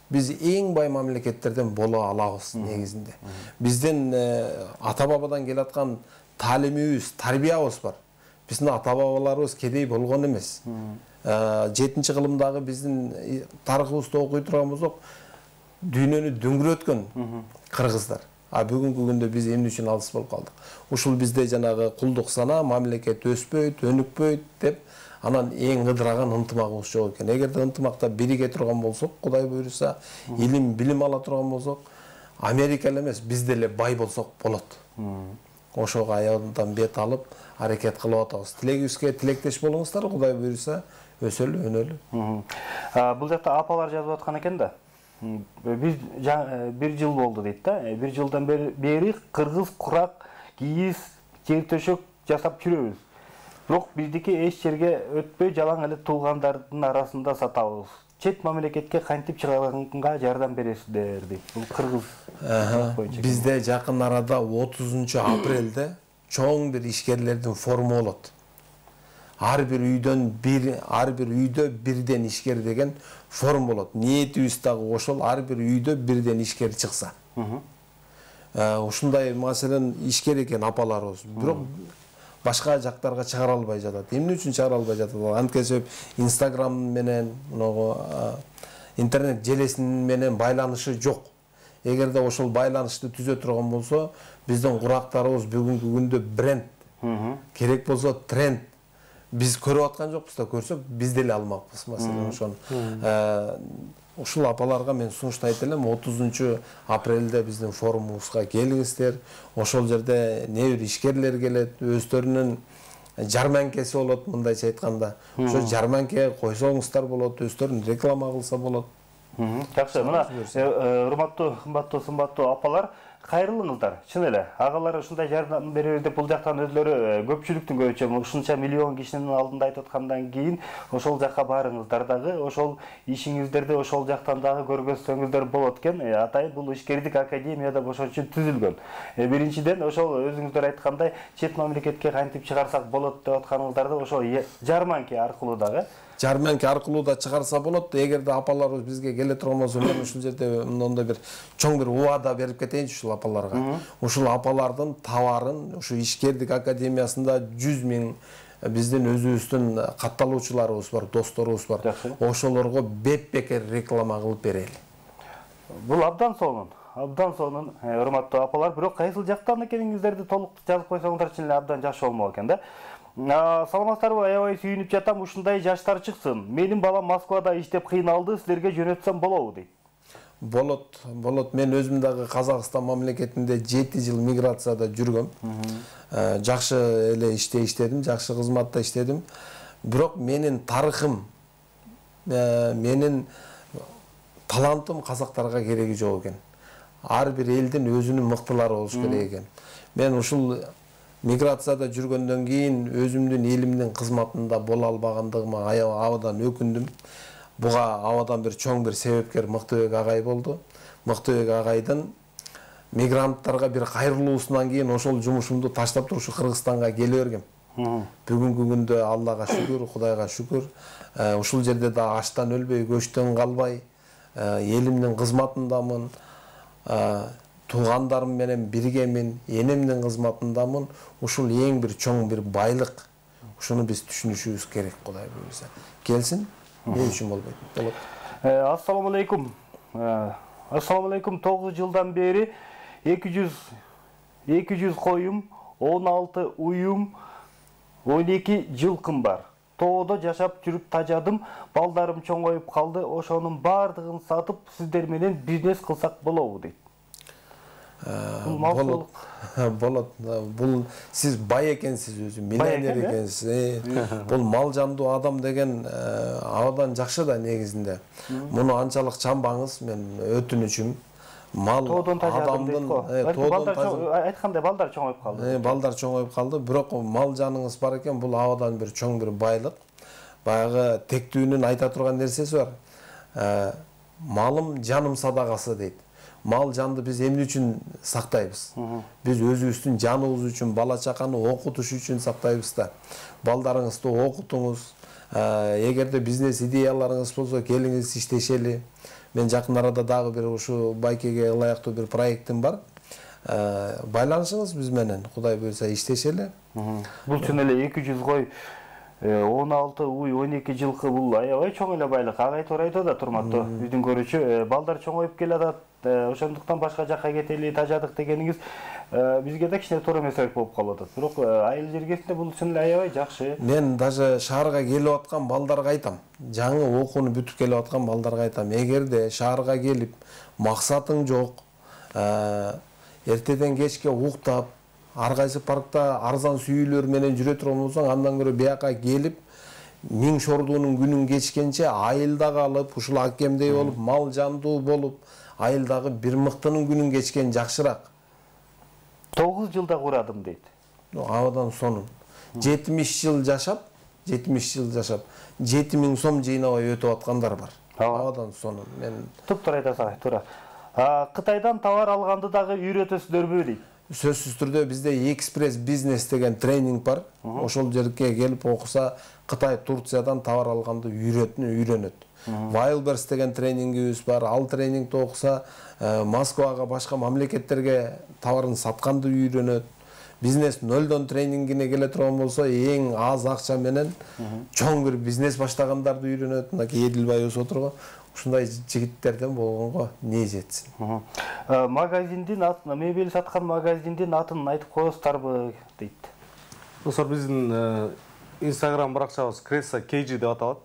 Биз эң бай мамлекеттерден боло алабыз негизинде. Биздин ата-бабадан келаткан таалимибиз, тарбиябыз бар. Биздин ата-бабаларыбыз кедей болгон эмес. жетинчи кылымдагы биздин тарыхыбызды окуй турган болсок, дүйнөнү дөңгөрөткөн кыргыздар. А бүгүнкү күндө биз эмне үчүн алыс болуп калдык? Ушул бизде жанагы кулдук сана, мамлекет өспөйт, өнүкпөйт деп анан эң ыдыраган ынтымагыбыз жок экен. Эгерде ынтымакта бириге турган болсок, Кудай буйруса, илим, билим ала турган болсок, Америка эле эмес, биз деле бай болсок болот. Ошого аягынан бет алып, аракет кылып атабыз. Тилегибизге тилектеш болуңуздар, Кудай буйруса, өсөлү, өнөлү.
Бул жакта апалар жазып аткан экен да. Биз бир жыл болду дейт да. Бир жылдан бери кыргыз курак, кийиз, жер төшөк жасап жүрөбүз. Бирок биздики эч жерге өтпөй жалаң эле туугандардын арасында сатабыз. Чет мамлекетке кантип чыгарганга жардам бересиздер дейт. Бул кыргыз.
Бизде жакын арада отузунчу апрелде чоң бир ишкерлердин форуму болот. Ар бир үйдөн бир, ар бир үйдө бирден ишкер деген форум болот. Ниетибиз дагы ошол, ар бир үйдө бирден ишкер чыкса. Ушундай маселен ишкер экен апаларыбыз. Бирок башка жактарга чыгара албай жатат. Эмне үчүн чыгара албай жатат? Антке себеп Инстаграм менен, интернет желесинин менен байланышы жок. Эгерде ошол байланышты түзө турган болсо, биздин курактарыбыз бүгүнкү күндө бренд, керек болсо тренд. Биз көрүп аткан жокпуз да, көрсөк биз деле алмакпыз маселен ошону. Ушул апаларга мен сунуштайт элем, отузунчу апрелде биздин форумубузга келиңиздер. Ошол жерде не бир ишкерлер келет, өздөрүнүн жарманкеси болот, мындайча айтканда. Ошо жарманке койсоңуздар болот, өздөрүн реклама кылса болот.
Жакшы, мына урматтуу, кымбаттуу, сымбаттуу апалар, кайрылыңыздар. Чын эле, агалар ушундай жардам беребиз деп бул жактан өзлөрү көпчүлүктүн көбүнчө ушунча миллион кишинин алдында айтып аткандан кийин ошол жакка барыңыздар дагы, ошол ишиңиздерди ошол жактан дагы көргөзсөңүздөр болот экен. Атайын бул ишкердик академияда ошол үчүн түзүлгөн. Биринчиден ошол өзүңүздөр айткандай чет мамлекетке кантип чыгарсак болот деп атканыңыздарды ошол жарманке аркылуу дагы
жарманке аркылуу да чыгарса болот. Эгерде апаларыбыз бизге келе турган болсо, мен ушул жерде мындай бир чоң бир убада берип кетейинчи ушул апаларга. Ушул апалардын товарын ушу ишкердик академиясында жүз миң биздин өзүбүздүн катталуучуларыбыз бар, досторубуз бар. Ошолорго беп-бекер реклама кылып берели.
Бул абдан сонун. Абдан сонун, урматтуу апалар. Бирок кайсыл жактан экениңиздерди толук жазып койсоңуздар чын эле абдан жакшы болмок экен да. Саламатсыздарбы, аябай сүйүнүп жатам, ушундай жаштар чыксын. Менин балам Москвада иштеп кыйналды, силерге жөнөтсөм болобу дейт.
Болот, болот. Мен өзүм дагы Казакстан мамлекетинде жети жыл миграцияда жүргөм. Жакшы эле иште иштедим, жакшы кызматта иштедим. Бирок менин тарыхым, менин талантым казактарга кереги жок экен. Ар бир элдин өзүнүн мыктылары болуш керек экен. Мен ушул миграцияда жүргөндөн кийин өзүмдүн элимдин кызматында боло албагандыгыма абдан өкүндүм. Буга абадан бир чоң бир себепкер Мыктыбек агай болду. Мыктыбек агайдын мигранттарга бир кайрылуусунан кийин ошол жумушумду таштап туруп ушу Кыргызстанга келе бергем. Бүгүнкү күндө Аллага шүгүр, Кудайга шүгүр, ушул жерде да аштан өлбөй, көчтөн калбай, элимдин кызматындамын. Туугандарым менен биргемин, энемдин кызматындамын. Ушул эң бир чоң бир байлык. Ушуну биз түшүнүшүбүз керек, Кудай буйруса. Келсин, эмне үчүн болбойт? Болот.
Ассаламу алейкум. Ассаламу алейкум. тогуз жылдан бери эки жүз коюм, он алты уюм, он эки жылкым бар. Тоодо жашап жүрүп тажадым, балдарым чоңоюп калды. Ошонун бардыгын сатып сиздер менен бизнес кылсак болобу дейт.
Болот. Болот. Бул сиз бай экенсиз өзү, миллионер экенсиз. Бул мал жандуу адам деген абдан жакшы да негизинде. Муну анчалык чамбаңыз, мен өтүнүчүм. Мал адамдын
айткандай балдар чоңоюп калды.
Балдар чоңоюп калды, бирок мал жаныңыз бар экен, бул абдан бир чоң бир байлык. Баягы тектүүнүн айта турган нерсеси бар. Малым жаным садагасы дейт. Мал жанды биз эмне үчүн сактайбыз? Биз өзүбүздүн жаныбыз үчүн, бала чаканы окутуш үчүн сактайбыз да. Балдарыңызды окутуңуз. Эгерде бизнес идеяларыңыз болсо, келиңиз иштешели. Мен жакын арада дагы бир ушу байкеге ылайыктуу бир проектим бар. Байланышыңыз биз менен, Кудай буйруса иштешели.
Бул чын эле эки жүз кой, он алты уй, он эки жылкы, бул аябай чоң эле байлык. Агай туура айтып атат, урматтуу биздин көрүүчү. Балдар чоңоюп келатат, ошондуктан башка жакка кетели, тажадык дегениңиз бизге да кичине туура эмесирээк болуп калып атат. Бирок айыл жергесинде бул чын эле аябай жакшы.
Мен даже шаарга келип аткан балдарга айтам. Жаңы окууну бүтүп келип аткан балдарга айтам. Эгерде шаарга келип максатың жок, эртеден кечке уктап, ар кайсы паркта арзан сүйүүлөр менен жүрө турган болсоң, андан көрө бияка келип, миң шордуунун күнүн кечкенче айылда калып, ушул акемдей болуп, мал жандуу болуп, айылдагы бир мыктынын күнүн кечкен жакшыраак.
тогуз жылда курадым дейт.
Абадан сонун. жетимиш жыл жашап, жетимиш жыл жашап, жети миң сом жыйнабай өтүп аткандар бар. Абадан сонун. Мен
туптура айтасың, туура. Кытайдан товар алганды дагы үйрөтөсүздөрбү дейт.
Сөзсүз түрдө бизде экспресс бизнес деген тренинг бар. Ошол жерге келип окуса, Кытай, Турциядан товар алганды үйрөнөт. Wildberries деген тренингибиз бар. Ал тренингди окуса, Москвага, башка мамлекеттерге товарын сатканды үйрөнөт. Бизнес нөлдөн тренингине келе турган болсо, эң аз акча менен чоң бир бизнес баштагандарды үйрөнөт. Мынакей Эдилбай өсүп отурго. Ушундай жигиттерден болгонго не жетсин.
Магазиндин атын, мебель саткан магазиндин атын айтып коесуздарбы дейт.
Достор, биздин Instagram баракчабыз Кресса Кейджи деп аталат.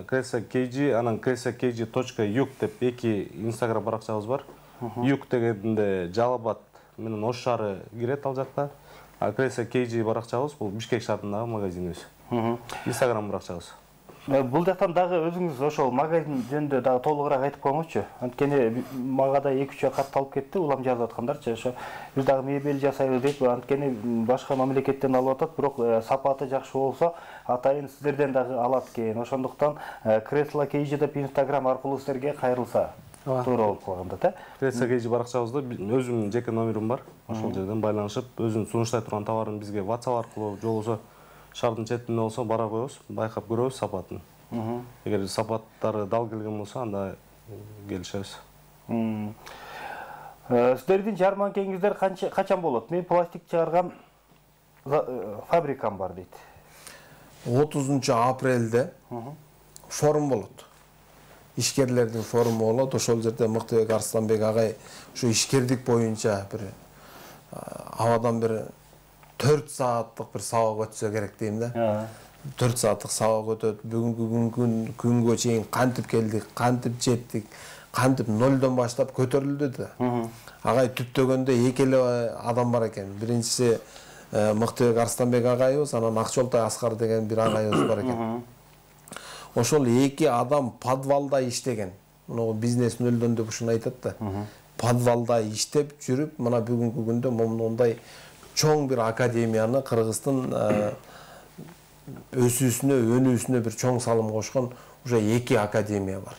Кресса Кейджи, анан кресса кейджи точка юг деп эки Instagram баракчабыз бар. Юг дегенде Жалал-Абад менен Ош шаары кирет ал жакта. А Кресса Кейджи баракчабыз бул Бишкек шаарындагы магазинибиз. Instagram баракчабыз.
Бул жактан дагы өзүңүз ошол магазин жөнүндө дагы толугураак айтып коюңузчу. Анткени мага да эки үч кат алып кетти, улам жазып аткандарчы. Ошо биз дагы мебель жасайбыз деп, анткени башка мамлекеттен алып атат, бирок сапаты жакшы болсо, атайын сиздерден дагы алат экен. Ошондуктан Кресла Кейджи деп Instagram аркылуу силерге кайрылса туура болуп калганда, да?
Кресса Кейджи баракчабызда өзүмдүн жеке номерим бар. Ошол жерден байланышып, өзүн сунуштай турган товарын бизге WhatsApp аркылуу же болбосо шаардын четинде болсо бара коебуз, байкап көрөбүз сапатын. Эгер сапаттары дал келген болсо, анда келишебиз.
Сиздердин жарманкеңиздер качан болот? Мен пластик чыгарган фабрикам бар дейт.
отузунчу апрелде форум болот. Ишкерлердин форуму болот. Ошол жерде Мыктыбек Арсланбек агай ушу ишкердик боюнча бир абадан бир төрт сааттык бир сабак өтсө керек дейм да. төрт сааттык сабак өтөт. Бүгүнкү күнгө чейин кантип келдик, кантип жеттик, кантип нөлдөн баштап көтөрүлдү да. Агай түптөгөндө эки эле адам бар экен. Биринчиси Мыктыбек Арсланбек агайыбыз, анан Акчолтой Аскар деген бир агайыбыз бар экен. Ошол эки адам подвалда иштеген. Мына бизнес нөлдөн деп ушуну айтат да. Подвалда иштеп жүрүп, мына бүгүнкү күндө мондай чоң бир академияны Кыргыздын өсүүсүнө, өнүүсүнө бир чоң салым кошкон уже эки академия бар.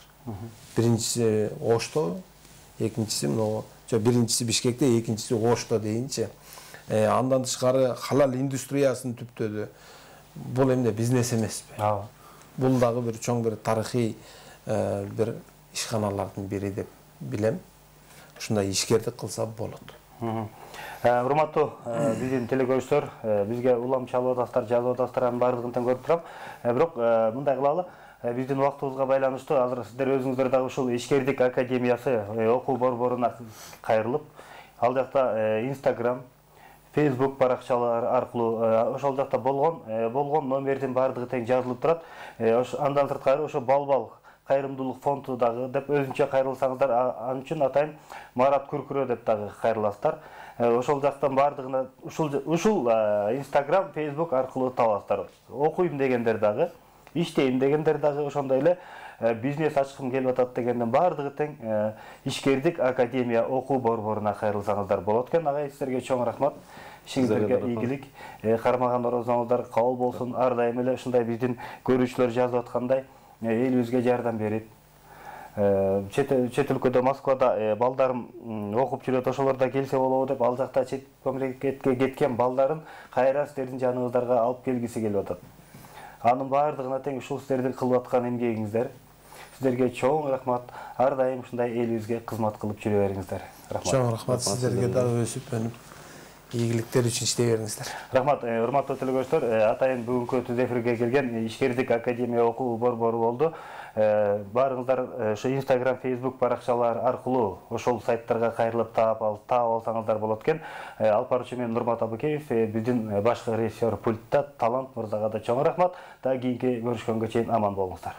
Биринчиси Ошто, экинчиси мына, жо биринчиси Бишкекте, экинчиси Ошто дейинчи. Андан тышкары халал индустриясын түптөдү. Бул эмне бизнес эмеспи? Бул дагы бир чоң бир тарыхый бир ишканалардын бири деп билем. Ушундай ишкердик кылса болот.
Урматтуу биздин телекөрүүчүлөр, бизге улам чалып атасыздар, жазып атасыздар, анын баардыгын тең көрүп турам. Бирок мындай кылалы, биздин убактыбызга байланыштуу азыр сиздер өзүңүздөр дагы ушул ишкердик академиясы окуу борборуна кайрылып, ал жакта Instagram, Facebook баракчалары аркылуу ошол жакта болгон болгон номердин баардыгы тең жазылып турат. Андан сырткары ошо Балбал кайрымдуулук фонду дагы деп өзүнчө кайрылсаңыздар, ал үчүн атайын Марат Күркүрө деп дагы кайрыласыздар. Ошол жактан баардыгына ушул ушул Instagram, Facebook аркылуу табасыздар. Окуйм дегендер дагы, иштейм дегендер дагы, ошондой эле бизнес ачкым келип атат дегенден баардыгы тең ишкердик академия окуу борборуна кайрылсаңыздар болот экен. Агай, сиздерге чоң рахмат. Ишиңиздерге ийгилик, кармаган орозоңуздар кабыл болсун. Ар дайым эле ушундай биздин көрүүчүлөр жазып аткандай элибизге жардам берип, чет өлкөдө Москвада балдарым окуп жүрөт, ошолор да келсе болобу деп, ал жакта чет мамлекетке кеткен балдарын кайра сиздердин жаныңыздарга алып келгиси келип атат. Анын баардыгына тең ушул сиздердин кылып аткан эмгегиңиздер. Сиздерге чоң рахмат. Ар дайым ушундай элибизге кызмат кылып жүрө бериңиздер. Рахмат.
Чоң рахмат сиздерге дагы өсүп өнүп ийгиликтер үчүн иштей бериңиздер.
Рахмат, урматтуу телекөрүүчүлөр, атайын бүгүнкү түз эфирге келген ишкердик академия окуу борбору болду. Баарыңыздар ошо Instagram, Facebook баракчалар аркылуу ошол сайттарга кайрылып таап алсаңыздар болот экен. Алып баруучу мен Нурмат Абыкеев, биздин башкы режиссер пультта Талант мырзага да чоң рахмат. Дагы кийинки көрүшкөнгө чейин аман болуңуздар.